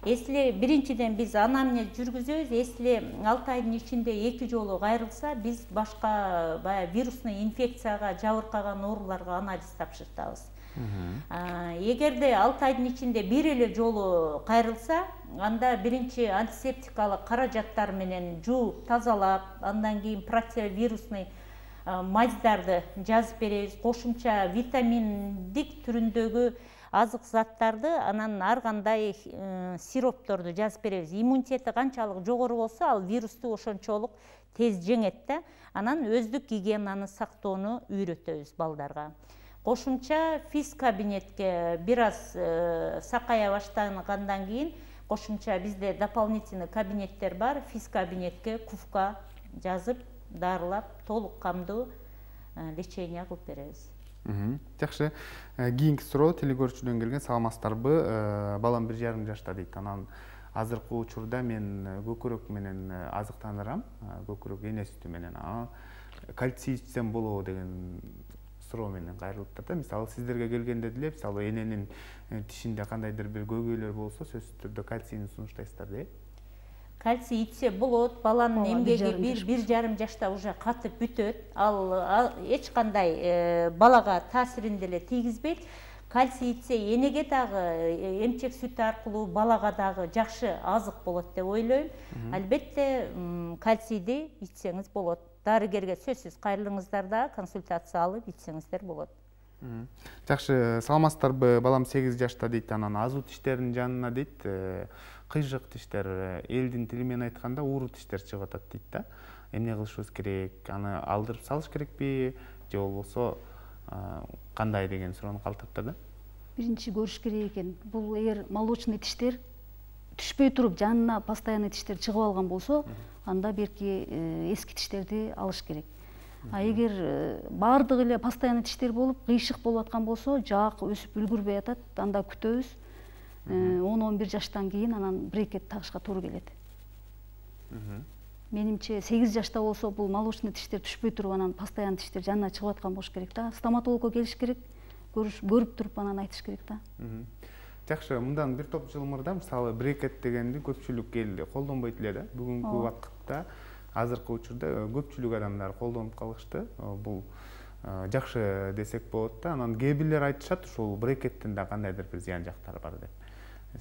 Если биринчиден биз анамнез жүргүзөбүз, если 6 айдын ичинде 2 жолу кайрылса, биз башка вирусный инфекцияга жабыркаган ооруларга анализ тапшыртабыз. Эгерде 6 айдын ичинде бир эле жолу кайрылса, анда биринчи антисептикалык каражаттар менен жууп, тазалап, андан кийин противовирусный маздарды жазып беребиз. Кошумча витаминдик түрүндөгү азык заттарды, анан ар кандай сиропторду жазып беребиз. Иммунитети канчалык жогору болсо, ал вирусту ошончолук тез жеңет да. Анан өздүк гигиенаны сактоону үйрөтөбүз балдарга. Кошумча физ кабинетке бир аз сакая баштагандан кийин кошумча бизде дополнительный кабинеттер бар, физ кабинетке КУФКа жазып дарылап толук камдуу лечение кылып беребиз. Жакшы. Кийинки суроо телекөрүүчүдөн келген. Саламатсыздарбы? Балам 1,5 жашта дейт. Анан азыркы учурда мен көкүрөк менен азыктандырам. Көкүрөк эне сүтү менен. Кальций ичсем болобу деген суроо менен кайрылып да. Мисалы сиздерге келгенде деле, мисалы эненин тишинде кандайдыр бир көйгөйлөр болсо, сөзсүз түрдө кальцийни сунуштайсыздар да. Кальций ичсе болот, баланын эмгеги 1,5 жашта уже катып бүтөт. Ал эч кандай балага таасирин деле тийгизбейт. Кальций ичсе энеге дагы эмчек сүтү аркылуу балага дагы жакшы азык болот деп ойлойм. Албетте кальцийди ичсеңиз болот. Дарыгерге сөзсүз кайрылыңыздар да консультация алып ичсеңиздер болот. Жакшы. Саламатсыздарбы? Балам 8 жашта дейт. Анан азуу тиштеринин жанына дейт, кыйжык тиштер, элдин тили менен айтканда ууру тиштер чыгып атат дейт да. Эмне кылышыбыз керек? Аны алдырып салыш керекпи же болбосо кандай деген суроону калтырыптыр да. Биринчи көрүш керек экен. Бул эгер молочный тиштер түшпөй туруп жанына постоянный тиштер чыгып алган болсо, анда берки эски тиштерди алыш керек. Эгер баардыгы эле постоянный тиштер болуп, кыйшык болуп аткан болсо, жаак өсүп үлгүрбөй атат, анда күтөбүз. 10-11 жаштан кийин анан брекет тагышка туура келет. Менимче 8 жашта болсо бул молочный тиштер түшпөй туруп, анан постоянный тиштер жанына чыгып аткан болуш керек да. Стоматологко келиш керек, көрүп туруп анан айтыш керек да. Жакшы. Мындан бир топ жыл мурда мисалы брекет дегенди көпчүлүк эл колдонбойт эле да. Бүгүнкү убакытта азыркы учурда көпчүлүк адамдар колдонуп калышты. Бул жакшы десек болот да. Анан кээ бирлер айтышат, ушул брекеттин да кандайдыр бир зыян жактары бар деп.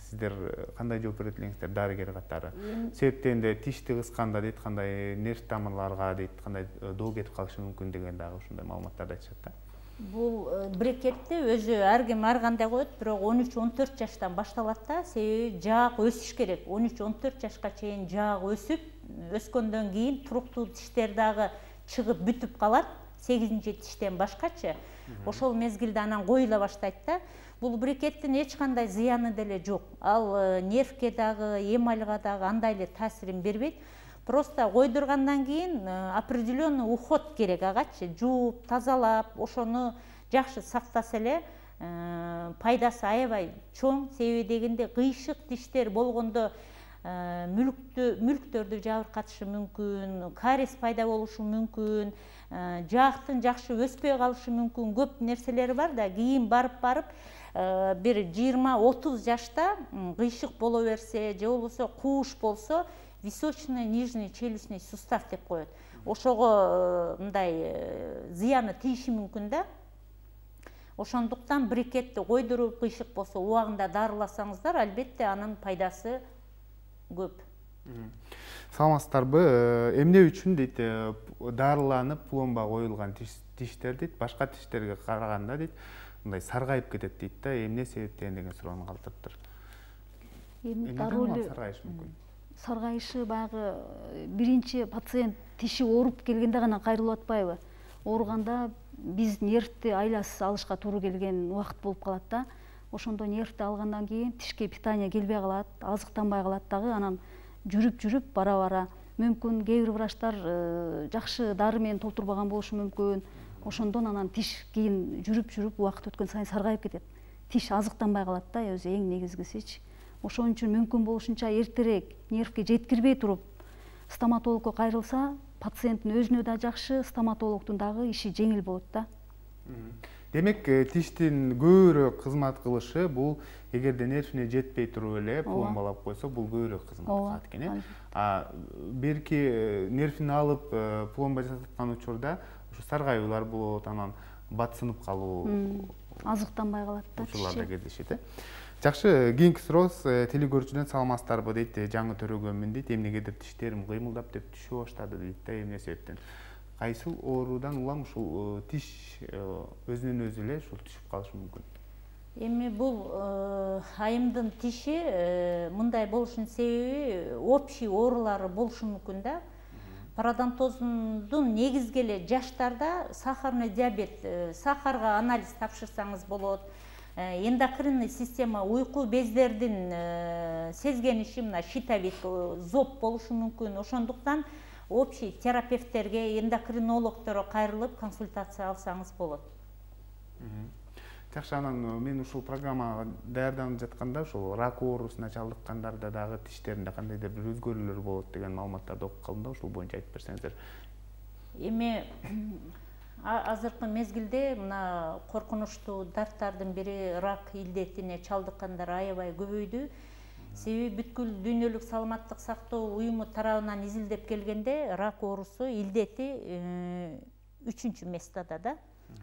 Сиздер кандай жооп берет элеңиздер дарыгер катары? Себептен де тишти кысканда дейт, кандай нерв тамырларга дейт, кандай доо кетип калышы мүмкүн деген дагы ушундай маалыматтарды айтышат да. Бул брекетти өзү ар ким ар кандай коет, бирок 13-14 жаштан башталат да. Себеби жаак өсүш керек. 13-14 жашка чейин жаак өсүп, өскөндөн кийин туруктуу тиштер дагы чыгып бүтүп калат. 8-чи тиштен башкачы. Ошол мезгилде анан коюла баштайт да. Бул брекеттин эч кандай зыяны деле жок. Ал нервке дагы, эмальга дагы андай эле таасирин бербейт. Просто койдургандан кийин определенный уход керек агачы. Жууп, тазалап, ошону жакшы сактаса эле пайдасы аябай чоң. Себеби дегенде кыйшык тиштер болгондо мүлктөрдү жабыркатышы мүмкүн, кариес пайда болушу мүмкүн, жаактын жакшы өспөй калышы мүмкүн. Көп нерселери бар да. Кийин барып бир 20-30 жашта кыйшык боло берсе же болбосо кууш болсо, височный нижний челюстный сустав деп коет. Ошого мындай зыяны тийиши мүмкүн да. Ошондуктан брекетти койдуруп, кыйшык болсо убагында дарыласаңыздар, албетте анын пайдасы көп. Саламатсыздарбы? Эмне үчүн дейт дарыланып пломба коюлган тиштер дейт башка тиштерге караганда дейт мындай саргайып кетет дейт да. Эмне себептен деген суроону калтырыптыр. Дарыланып саргайышы мүмкүн. Саргайышы баягы биринчи пациент тиши ооруп келгенде гана кайрылып атпайбы? Ооруганда биз нервти айласыз алышка туура келген убакыт болуп калат да. Ошондо нервти алгандан кийин тишке питание келбей калат, азыктанбай калат дагы. Анан жүрүп бара мүмкүн кээ бир врачтар жакшы дары менен толтурбаган болушу мүмкүн. Ошондон анан тиш кийин жүрүп убакыт өткөн сайын саргайып кетет. Тиш азыктанбай калат да, өзү эң негизгисичи. Ошон үчүн мүмкүн болушунча эртерээк нервке жеткирбей туруп стоматологко кайрылса, пациенттин өзүнө да жакшы, стоматологдун дагы иши жеңил болот да. Демек, тиштин көбүрөөк кызмат кылышы бул эгерде нервине жетпей туруп эле пломбалап койсо, бул көбүрөөк кызмат кылат экен. Берки нервини алып пломба жасаткан учурда ушу саргайуулар болот, анан батсынып калуу, азыктанбай калат да. Ушуларда кездешет. Жакшы, кийинки сурооз телекөрүүчүдөн саламатсыздарбы дейт, жаңы төрөгөнмүн дейт, эмнегедир тиштерим кыймылдап деп түшө баштады дейт да, эмне себептен? Кайсыл оорудан улам ушул тиш өзүнөн өзү эле ушул түшүп калышы мүмкүн? Эми бул айымдын тиши мындай болушунун себеби общий оорулары болушу мүмкүн да. Пародонтоздун негизги эле жаштарда сахарный диабет, сахарга анализ тапшырсаңыз болот. эндокринный система, уйку бездердин сезгениши, мына щитовид, зоб болушу мүмкүн. Ошондуктан общий терапевттерге, эндокринологдорго кайрылып консультация алсаңыз болот. Жакшы, анан мен ушул программага даярданып жатканда ушул рак оорусуна чалдыккандарда дагы тиштеринде кандайдыр бир өзгөрүүлөр болот деген маалыматтарды окуп калдым да, ушул боюнча айтып берсеңиздер. Эми азыркы мезгилде мына коркунучтуу дарттардын бири рак илдетине чалдыккандар аябай көбөйдү. Себеби бүткүл дүйнөлүк саламаттык сактоо уюму тарабынан изилдеп келгенде рак оорусу илдети 3-чү местада да.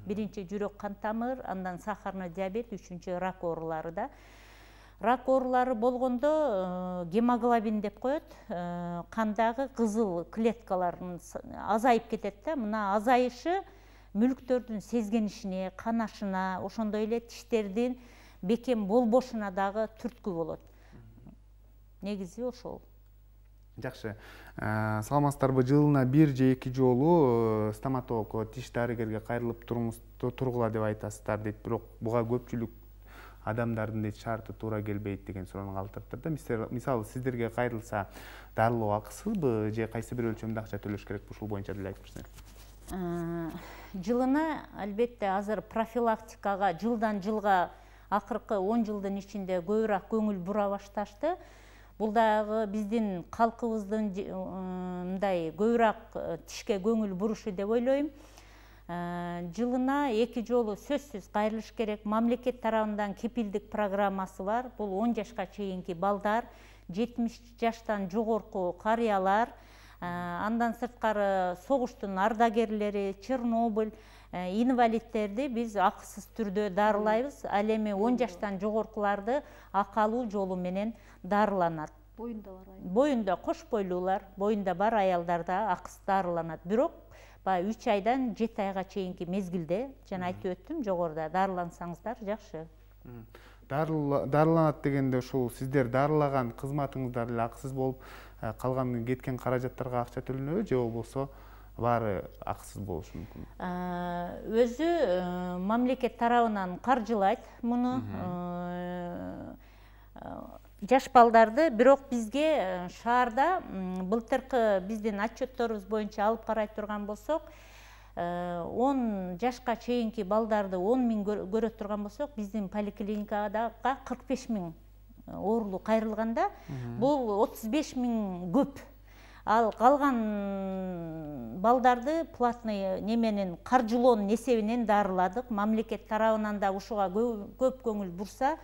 Биринчи жүрөк кан тамыр, андан сахарный диабет, 3-чү рак оорулары да. Рак оорулары болгондо гемоглобин деп коет, кандагы кызыл клеткалардын азайып кетет да. Мына азайышы мүлктөрдүн сезгенишине, канашына, ошондой эле тиштердин бекем болбошуна дагы түрткү болот. Негизи ошол. Жакшы. Саламатсыздарбы? Жылына 1 же 2 жолу стоматологко, тиш дарыгерге кайрылып тургула деп айтасыздар дейт. Бирок буга көпчүлүк адамдардын дейт шарты туура келбейт деген суроону калтырыптыр да. Мисалы сиздерге кайрылса дарылоо акысызбы же кайсы бир өлчөмдө акча төлөш керекпи? Ушул боюнча деле айтып берсеңиз. Жылына албетте азыр профилактикага жылдан жылга акыркы 10 жылдын ичинде көбүрөөк көңүл бура башташты. Бул дагы биздин калкыбыздын мындай көбүрөөк тишке көңүл бурушу деп ойлойм. Жылына 2 жолу сөзсүз кайрылыш керек. Мамлекет тарабынан кепилдик программасы бар. Бул 10 жашка чейинки балдар, 70 жаштан жогорку карыялар, андан сырткары согуштун ардагерлери, Чернобыль, инвалидтерди биз акысыз түрдө дарылайбыз. Ал эми 10 жаштан жогоркуларды акалуу жолу менен дарыланат. Боюнда кош бойлуулар, боюнда бар аялдарда акысыз дарыланат. Бирок 3 айдан 7 айга чейинки мезгилде, жана айтып өттүм, жогоруда дарылансаңыздар жакшы. Дарыланат дегенде ушул сиздер дарылаган кызматыңыздар эле акысыз болуп, калган кеткен каражаттарга акча төлөнөбү же болбосо баары акысыз болушу мүмкүн? Өзү мамлекет тарабынан каржылайт муну. Жаш балдарды, бирок бизге шаарда былтыркы биздин отчетторубуз боюнча алып карай турган болсок, 10 жашка чейинки балдарды 10 миң көрө турган болсок, биздин поликлиникага 45 миң оорулуу кайрылганда, бул 35 миң көп. Ал калган балдарды платный неменин каржылоонун эсебинен дарыладык. Мамлекет тарабынан да ушуга көп көңүл бурса,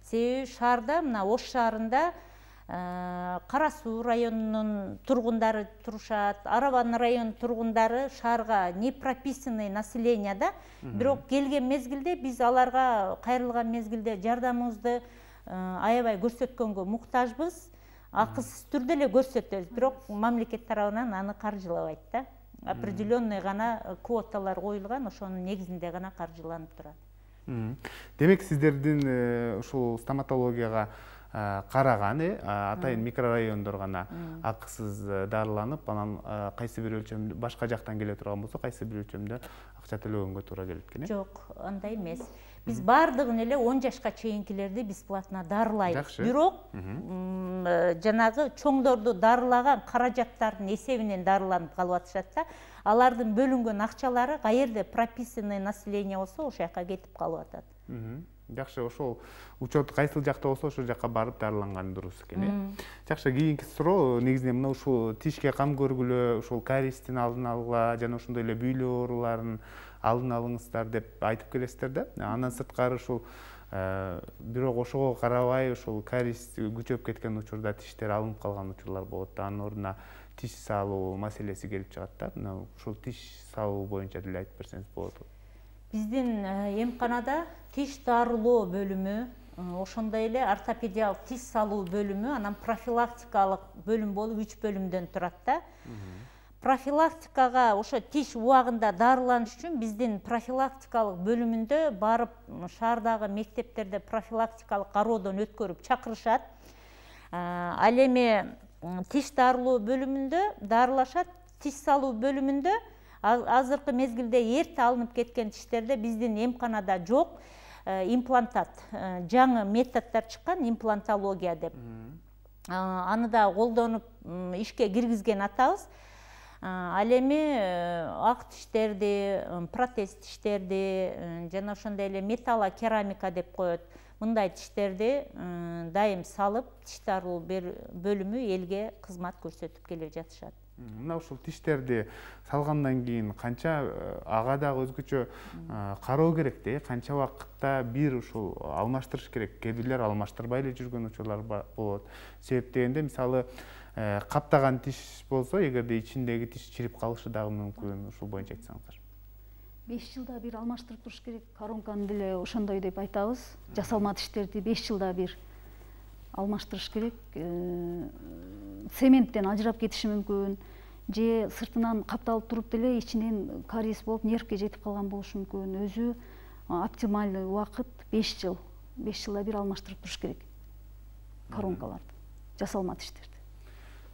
себеби шаарда, мына Ош шаарында Кара Суу районунун тургундары турушат, Арабан районунун тургундары шаарга не прописанный население да, бирок келген мезгилде биз аларга кайрылган мезгилде жардамыбызды аябай көрсөткөнгө муктажбыз. Акысыз түрдө эле көрсөтөбүз, бирок мамлекет тарабынан аны каржылабайт да. Определенный гана квоталар коюлган, ошонун негизинде гана каржыланып турат. Демек сиздердин ушул стоматологияга караган атайын микрорайондор гана акысыз дарыланып, анан кайсы бир өлчөмдө башка жактан келе турган болсо, кайсы бир өлчөмдө акча төлөгөнгө туура келет экен. Жок, андай эмес. Биз бардыгын эле 10 жашка чейинкилерди бесплатно дарылайбыз. Бирок жанагы чоңдорду дарылаган каражаттардын эсебинен дарыланып калып атышат да. Алардын бөлүнгөн акчалары каерде прописанный население болсо, ошол жака кетип калып атат. Жакшы, ошол учет кайсыл жакта болсо, ошол жака барып дарыланган дурус экен. Жакшы, кийинки суроо негизинен мына ушул тишке кам көргүлө, ушул кариестин алдын алгыла жана ошондой эле бүйлө ооруларын алдын алыңыздар деп айтып келесиздер да. Андан сырткары ушул бирок ошого карабай ушул кариес күчөп кеткен учурда тиштер алынып калган учурлар болот. Анын ордуна тиш салуу маселеси келип чыгат да. Мына ушул тиш салуу боюнча деле айтып берсеңиз болот. Биздин эмканада тиш дарылоо бөлүмү, ошондой эле ортопедиялык тиш салуу бөлүмү, анан профилактикалык бөлүм болуп 3 бөлүмдөн турат да. Профилактикага ошо тиш убагында дарыланыш үчүн биздин профилактикалык бөлүмүндө барып шаардагы мектептерде профилактикалык кароодон өткөрүп чакырышат. Ал эми тиш дарылоо бөлүмүндө дарылашат, тиш салуу бөлүмүндө азыркы мезгилде эрте алынып кеткен тиштерде биздин эмканада жок. имплантат, жаңы методдор чыккан, имплантология деп. Аны да колдонуп ишке киргизген атабыз. Ал эми ак тиштерди, протез тиштерди, жана ошондой эле металла керамика деп коет. Мындай тиштерди дайым салып, тиш дарылоо бөлүмү элге кызмат көрсөтүп келе жатышат. Мына ушул тиштерди салгандан кийин канча ага дагы өзгөчө кароо керек да, канча убакытта бир ушул алмаштырыш керек. Кээ бирлер алмаштырбай эле жүргөн учурлар болот. Себеп дегенде мисалы каптаган тиш болсо, эгерде ичиндеги тиш чирип калышы дагы мүмкүн. Ушул боюнча айтсаңыздар. 5 жылда бир алмаштырып туруш керек. Коронканы деле ошондой деп айтабыз. Жасалма тиштерди 5 жылда бир алмаштырыш керек. Цементтен ажырап кетиши мүмкүн, же сыртынан капталып туруп деле ичинен кариес болуп нервке жетип калган болушу мүмкүн. Өзү оптималдуу убакыт 5 жыл. 5 жылда бир алмаштырып туруш керек коронкаларды, жасалма тиштерди.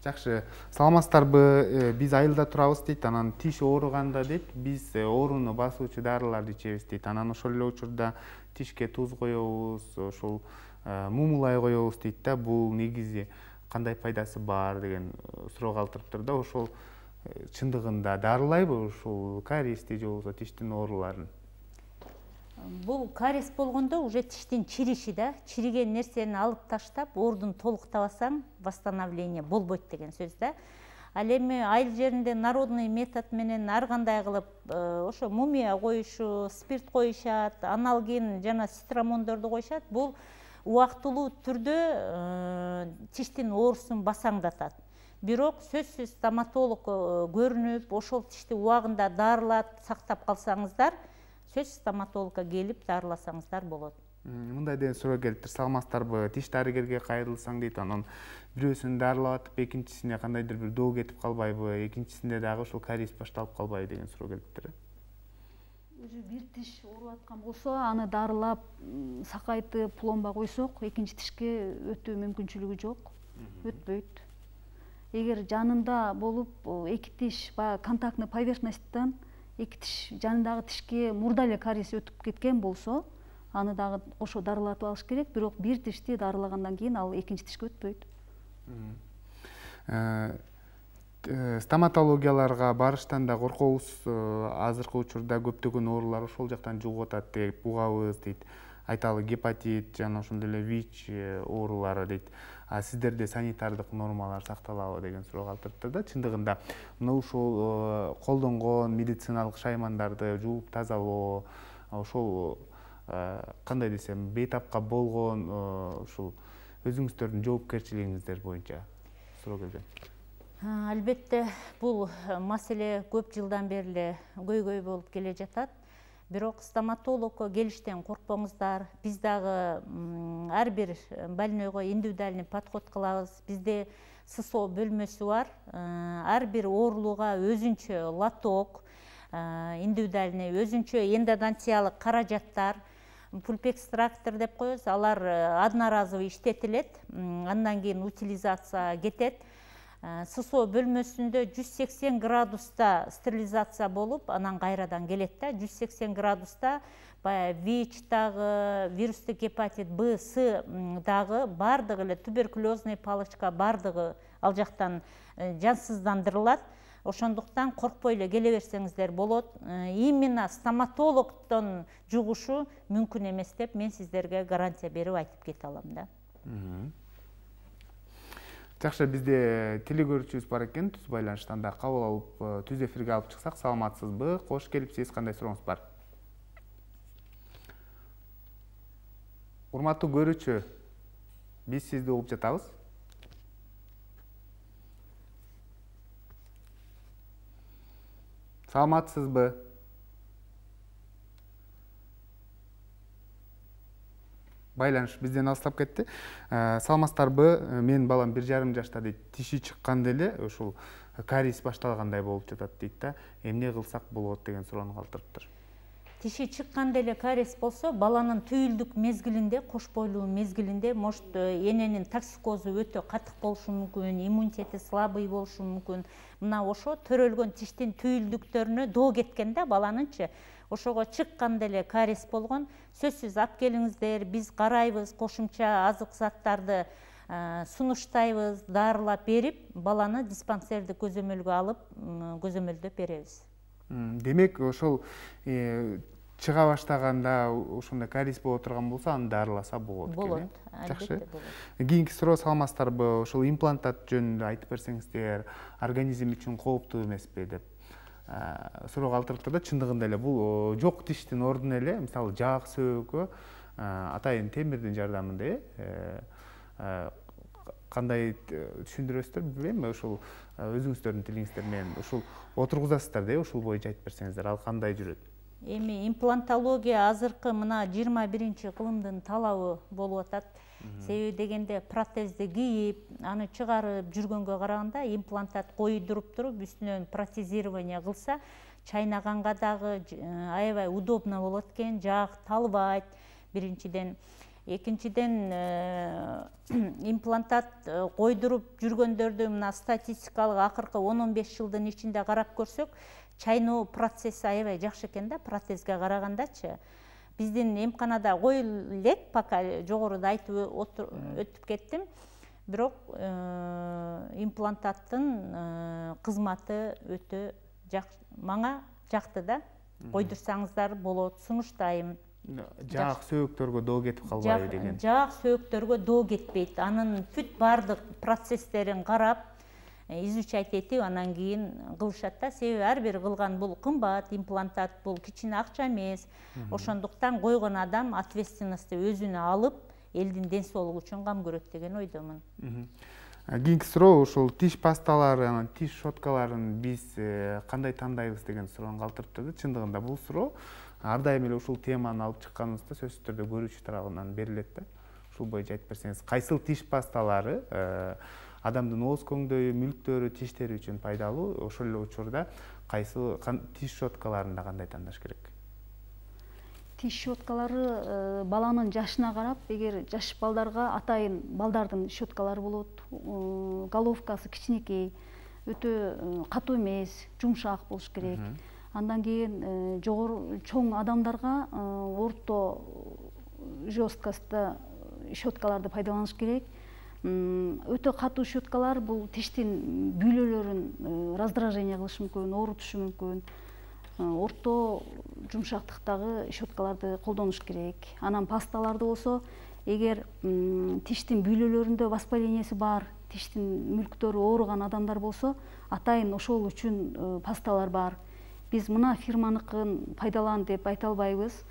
Жакшы, саламатсыздарбы? Биз айылда турабыз дейт, анан тиш ооруганда дейт, биз ооруну басуучу дарыларды ичебиз дейт. Анан ошол эле учурда тишке туз коебуз, ошол мумулай коебуз дейт да. Бул негизи кандай пайдасы бар деген суроо калтырыптыр да. Ошол чындыгында дарылайбы ушул кариести же болбосо тиштин ооруларын? Бул кариес болгондо уже тиштин чириши да, чириген нерсени алып таштап, оордун толуктабасаң, восстановление болбойт деген сөз да. Ал эми айыл жеринде народный метод менен ар кандай кылып ошо мумия коюшу, спирт коюшат, аналгин жана цитрамондорду коюшат. Бул убактылуу түрдө тиштин оорусун басаңдатат. Бирок сөзсүз стоматолог көрүнүп, ошол тишти убагында дарылап сактап калсаңыздар, сөз стоматологко келип дарыласаңыздар болот. Мындай деген суроо келиптир. Саламатсыздарбы? Тиш дарыгерге кайрылсаң дейт, анан бирөөсүн дарылап атып, экинчисине кандайдыр бир доо кетип калбайбы? Экинчисинде дагы ушул кариес башталып калбайбы деген суроо келиптир. Өзү бир тиш ооруп аткан болсо, аны дарылап, сакайтып, пломба койсок, экинчи тишке өтүү мүмкүнчүлүгү жок, өтпөйт. Эгер жанында болуп, эки тиш баягы контактный поверхностьтан эки тиш жанындагы тишке мурда эле кариес өтүп кеткен болсо, аны дагы ошо дарылатып алыш керек. Бирок бир тишти дарылагандан кийин ал экинчи тишке өтпөйт. Стоматологияларга барыштан да коркобуз. Азыркы учурда көптөгөн оорулар ошол жактан жугуп атат деп угабыз дейт. Айталы гепатит жана ошондой эле ВИЧ оорулары дейт. Сиздерде санитардык нормалар сакталабы деген суроо калтырыптыр да. Чындыгында мына ушул колдонгон медициналык шаймандарды жууп тазалоо, ошол кандай десем, бейтапка болгон ушул өзүңүздөрдүн жоопкерчилигиңиздер боюнча суроо келген. Албетте, бул маселе көп жылдан бери эле көйгөй болуп келе жатат. Бирок стоматологко келиштен коркпоңуздар. Биз дагы ар бир больнойго индивидуальный подход кылабыз. Бизде ССО бөлмөсү бар. Ар бир оорулууга өзүнчө лоток, индивидуальный, өзүнчө эндодонтиялык каражаттар, пульпэкстрактор деп коебуз. Алар одноразовый иштетилет, андан кийин утилизация кетет. ССО бөлмөсүндө 180 градуста стерилизация болуп, анан кайрадан келет да. 180 градуста баягы ВИЧ дагы, вирустук гепатит Б, С дагы, бардыгы эле туберкулезный палочка бардыгы ал жактан жансыздандырылат. Ошондуктан коркпой эле келе берсеңиздер болот. Именно стоматологдон жугушу мүмкүн эмес деп мен сиздерге гарантия берип айтып кете алам да. Жакшы, бизде телегөрүүчүбүз бар экен, түз байланыштан да кабыл алып, түз эфирге алып чыксак, саламатсызбы? Кош келипсиз, кандай сурооңуз бар? Урматтуу көрүүчү, биз сизди угуп жатабыз. Саламатсызбы? Байланыш бизден алыстап кетти. Саламатсыздарбы? Менин балам 1,5 жашта дейт. Тиши чыкканда эле ушул кариес башталгандай болуп жатат дейт да. Эмне кылсак болот деген суроону калтырыптыр. Тиши чыкканда эле кариес болсо, баланын түйүлдүк мезгилинде, кош бойлуу мезгилинде может эненин токсикозу өтө катык болушу мүмкүн, иммунитети слабый болушу мүмкүн. Мына ошо төрөлгөн тиштин түйүлдүктөрүнө доо кеткен да баланынчы. ошого чыкканда эле кариес болгон. Сөзсүз алып келиңиздер, биз карайбыз, кошумча азык заттарды сунуштайбыз, дарылап берип, баланы диспансерди көзөмөлгө алып, көзөмөлдөп беребиз. Демек, ошол чыга баштаганда ошондой кариес боло турган болсо, аны дарыласа болот экен. Болот, албетте болот. Кийинки суроо саламатсыздарбы? Ошол имплантат жөнүндө айтып берсеңиздер, организм үчүн кооптуу эмеспи деп суроо калтырыптыр да. Чындыгында эле бул жок тиштин ордуна эле, мисалы жаак сөөгө атайын темирдин жардамында кандай түшүндүрөсүздөр билбейм, ошол өзүңүздөрдүн тилиңиздер менен ошол отургузасыздар да, ошол боюнча айтып берсеңиздер, ал кандай жүрөт? Эми имплантология азыркы мына 21-кылымдын талабы болуп атат. Себеби дегенде протезди кийип, аны чыгарып жүргөнгө караганда имплантат койдуруп туруп, үстүнөн протезирование кылса, чайнаганга дагы аябай удобно болот экен, жаак талбайт биринчиден. Экинчиден, имплантат койдуруп жүргөндөрдү мына статистикалык акыркы 10-15 жылдын ичинде карап көрсөк, чайноо процесси аябай жакшы экен да, протезге карагандачы. Биздин эмканада коюлуп элек, пока жогоруда айтып өтүп кеттим. Бирок имплантаттын кызматы өтө мага жакты да. Койдурсаңыздар болот, сунуштайм. Жаак сөөгтөргө доо кетип калбайбы деген. Жаак сөөгтөргө доо кетпейт. Анын бүт баардык процесстерин карап, изучать этип, анан кийин кылышат да. Себеби ар бир кылган бул кымбат, имплантат бул кичине акча эмес. Ошондуктан койгон адам ответственности өзүнө алып, элдин ден соолугу үчүн кам көрөт деген ойдомун. Кийинки суроо ошол тиш пасталары, анан тиш щеткаларын биз кандай тандайбыз деген суроону калтырыптыр. Чындыгында бул суроо ар дайым эле ушул теманы алып чыкканыбызда сөзсүз түрдө көрүүчү тарабынан берилет да. Ушул боюнча айтып берсеңиз, кайсыл тиш пасталары адамдын ооз көңдөйү, мүлктөрү, тиштери үчүн пайдалуу, ошол эле учурда кайсыл тиш щеткаларын да кандай тандаш керек? Тиш щеткалары баланын жашына карап, эгер жаш балдарга атайын балдардын щеткалары болот, головкасы кичинекей, өтө катуу эмес, жумшак болуш керек. Андан кийин чоң адамдарга орто жесткости щеткаларды пайдаланыш керек. Өтө катуу щеткалар бул тиштин бүйлөлөрүн раздражение кылышы мүмкүн, оорутушу мүмкүн. Орто жумшактыктагы щеткаларды колдонуш керек. Анан пасталарды болсо, эгер тиштин бүйлөлөрүндө воспалениеси бар, тиштин мүлктөрү ооруган адамдар болсо, атайын ошол үчүн пасталар бар. Биз мына фирманыкын пайдалан деп айта албайбыз.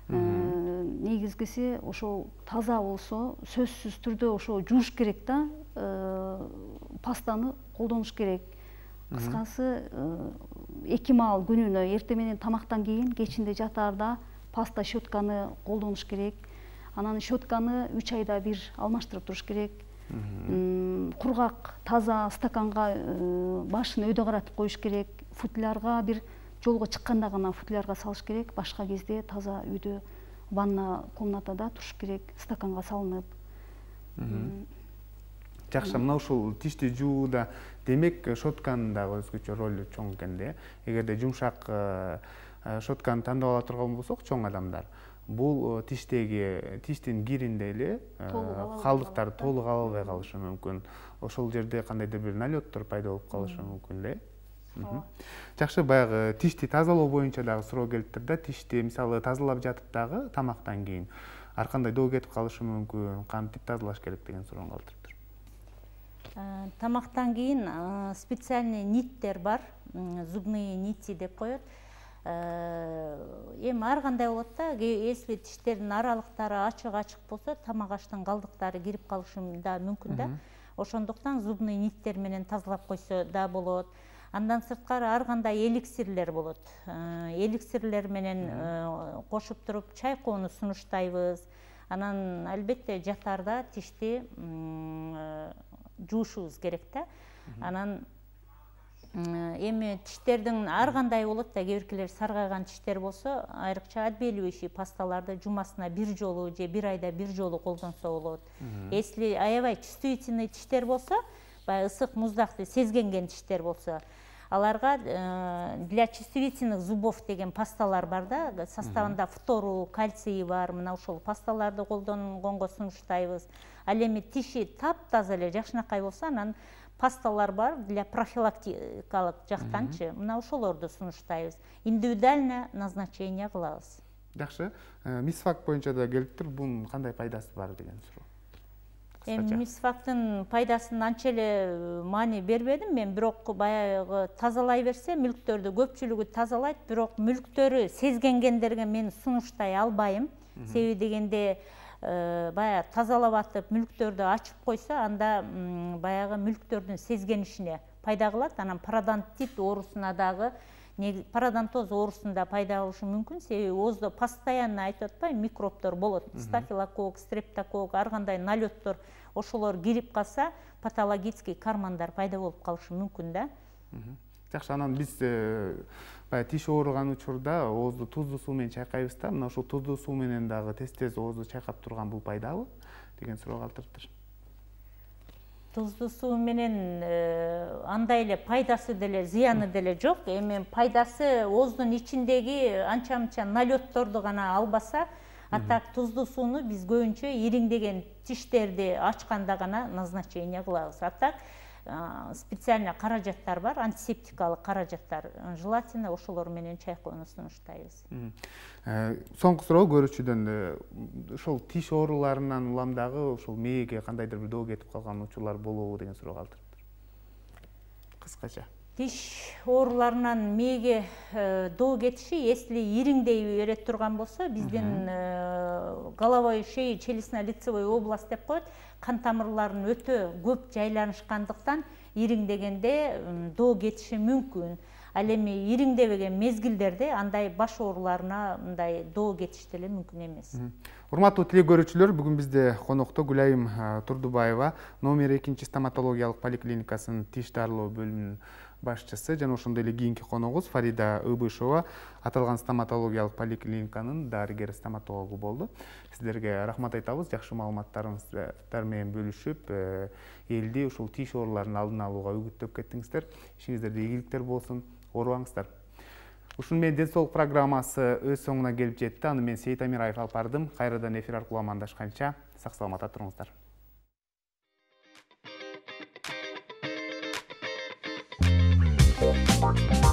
Негизгиси ошол таза болсо, сөзсүз түрдө ошол жууш керек да, пастаны колдонуш керек. Кыскасы 2 маал күнүнө, эртең менен тамактан кийин, кечинде жатаарда паста щетканы колдонуш керек. Анан щетканы 3 айда бир алмаштырып туруш керек. Кургак, таза стаканга башын өйдө каратып коюш керек. Футлярга бир жолго чыкканда гана футлярга салыш керек. Башка кезде таза үйдө ванна комнатада туруш керек, стаканга салынып. Жакшы, мына ушул тишти жууда демек щетканын дагы өзгөчө ролу чоң экен да. Эгерде жумшак щетканы тандап ала турган болсок, чоң адамдар, бул тиштин киринде эле калдыктар толук ала албай калышы мүмкүн. Ошол жерде кандайдыр бир налеттор пайда болуп калышы мүмкүн да. Жакшы, баягы тишти тазалоо боюнча дагы суроо келиптир да. Тишти мисалы тазалап жатып дагы тамактан кийин ар кандай доо кетип калышы мүмкүн, кантип тазалаш керек деген суроону калтырыптыр. Тамактан кийин специальный ниттер бар, зубные нити деп коет. Эми ар кандай болот да, если тиштердин аралыктары ачык болсо, тамак аштын калдыктары кирип калышы да мүмкүн да. Ошондуктан зубный ниттер менен тазалап койсо да болот. Андан сырткары ар кандай эликсирлер болот. Эликсирлер менен кошуп туруп чайкоону сунуштайбыз. Анан албетте жатаарда тишти жуушубуз керек да. Анан эми тиштердин ар кандай болот да, кээ биркилер саргайган тиштер болсо, айрыкча отбеливающий пасталарды жумасына бир жолу же бир айда бир жолу колдонсо болот. Если аябай чувствительный тиштер болсо, баягы ысык муздакты сезгенген тиштер болсо, аларга для чувствительных зубов деген пасталар бар да, составында фтору, кальций бар. Мына ошол пасталарды колдонгонго сунуштайбыз. Ал эми тиши таптаза эле жакшынакай болсо, анан пасталар бар для профилактикалык жактанчы. Мына ошолорду сунуштайбыз. Индивидуальное назначение кылабыз. Жакшы. Мисвак боюнча да келиптир. Бунун кандай пайдасы бар деген суроо. Мисвактын пайдасын анча эле маани бербедим мен, бирок баягы тазалай берсе мүлктөрдү көпчүлүгү тазалайт, бирок мүлктөрү сезгенгендерге мен сунуштай албайм. Себеби дегенде баягы тазалап атып мүлктөрдү ачып койсо, анда баягы мүлктөрдүн сезгенишине пайда кылат. Анан пародонтит оорусуна дагы, пародонтоз оорусунда пайда болушу мүмкүн. Себеби ооздо постоянно айтып атпайбы, микробдор болот. Стафилококк, стрептококк, ар кандай налеттор, ошолор кирип калса, патологический кармандар пайда болуп калышы мүмкүн да. Жакшы, анан биз тиш ооруган учурда оозду туздуу суу менен чайкайбыз да. Мына ошол туздуу суу менен дагы тез оозду чайкап турган бул пайдабы деген суроо калтырыптыр. Туздуу суу менен андай эле пайдасы деле, зыяны деле жок. Эми пайдасы ооздун ичиндеги анча-мынча налетторду гана албаса, а так туздуу сууну биз көбүнчө ириңдеген тиштерди ачканда гана назначение кылабыз. А так специально каражаттар бар, антисептикалык каражаттар. Желательно ошолор менен чайкоону сунуштайбыз. Соңку суроо көрүүчүдөн, ошол тиш ооруларынан улам дагы ошол мээге кандайдыр бир доо кетип калган учурлар болобу деген суроо калтырыптыр. Кыскача. Тиш ооруларынан мээге доо кетиши, если ириңдей бере турган болсо, биздин головой, шея, челюстно-лицевой область деп коет, кан тамырларын өтө көп жайланышкандыктан ириңдегенде доо кетиши мүмкүн. Ал эми ириңдебеген мезгилдерде андай баш ооруларына мындай доо кетиш деле мүмкүн эмес. Урматтуу теле көрүүчүлөр, бүгүн бизде конокто Гүлайым Турдубаева, номер 2 стоматологиялык поликлиникасынын тиш дарылоо бөлүмүнүн башчысы, жана ошондой эле кийинки коногубуз Фарида Ыбышева, аталган стоматологиялык поликлиниканын дарыгер стоматологу болду. Сиздерге рахмат айтабыз, жакшы маалыматтарыңыздар менен бөлүшүп, элди ушул тиш ооруларынын алдын алууга үгүттөп кеттиңиздер. Ишиңиздерде ийгиликтер болсун, оорубаңыздар. Ушуну менен Ден соолук программасы өз соңуна келип жетти. Аны мен Сейит Амираев алып бардым. Кайрадан эфир аркылуу амандашканча сак саламатта туруңуздар. Thank you.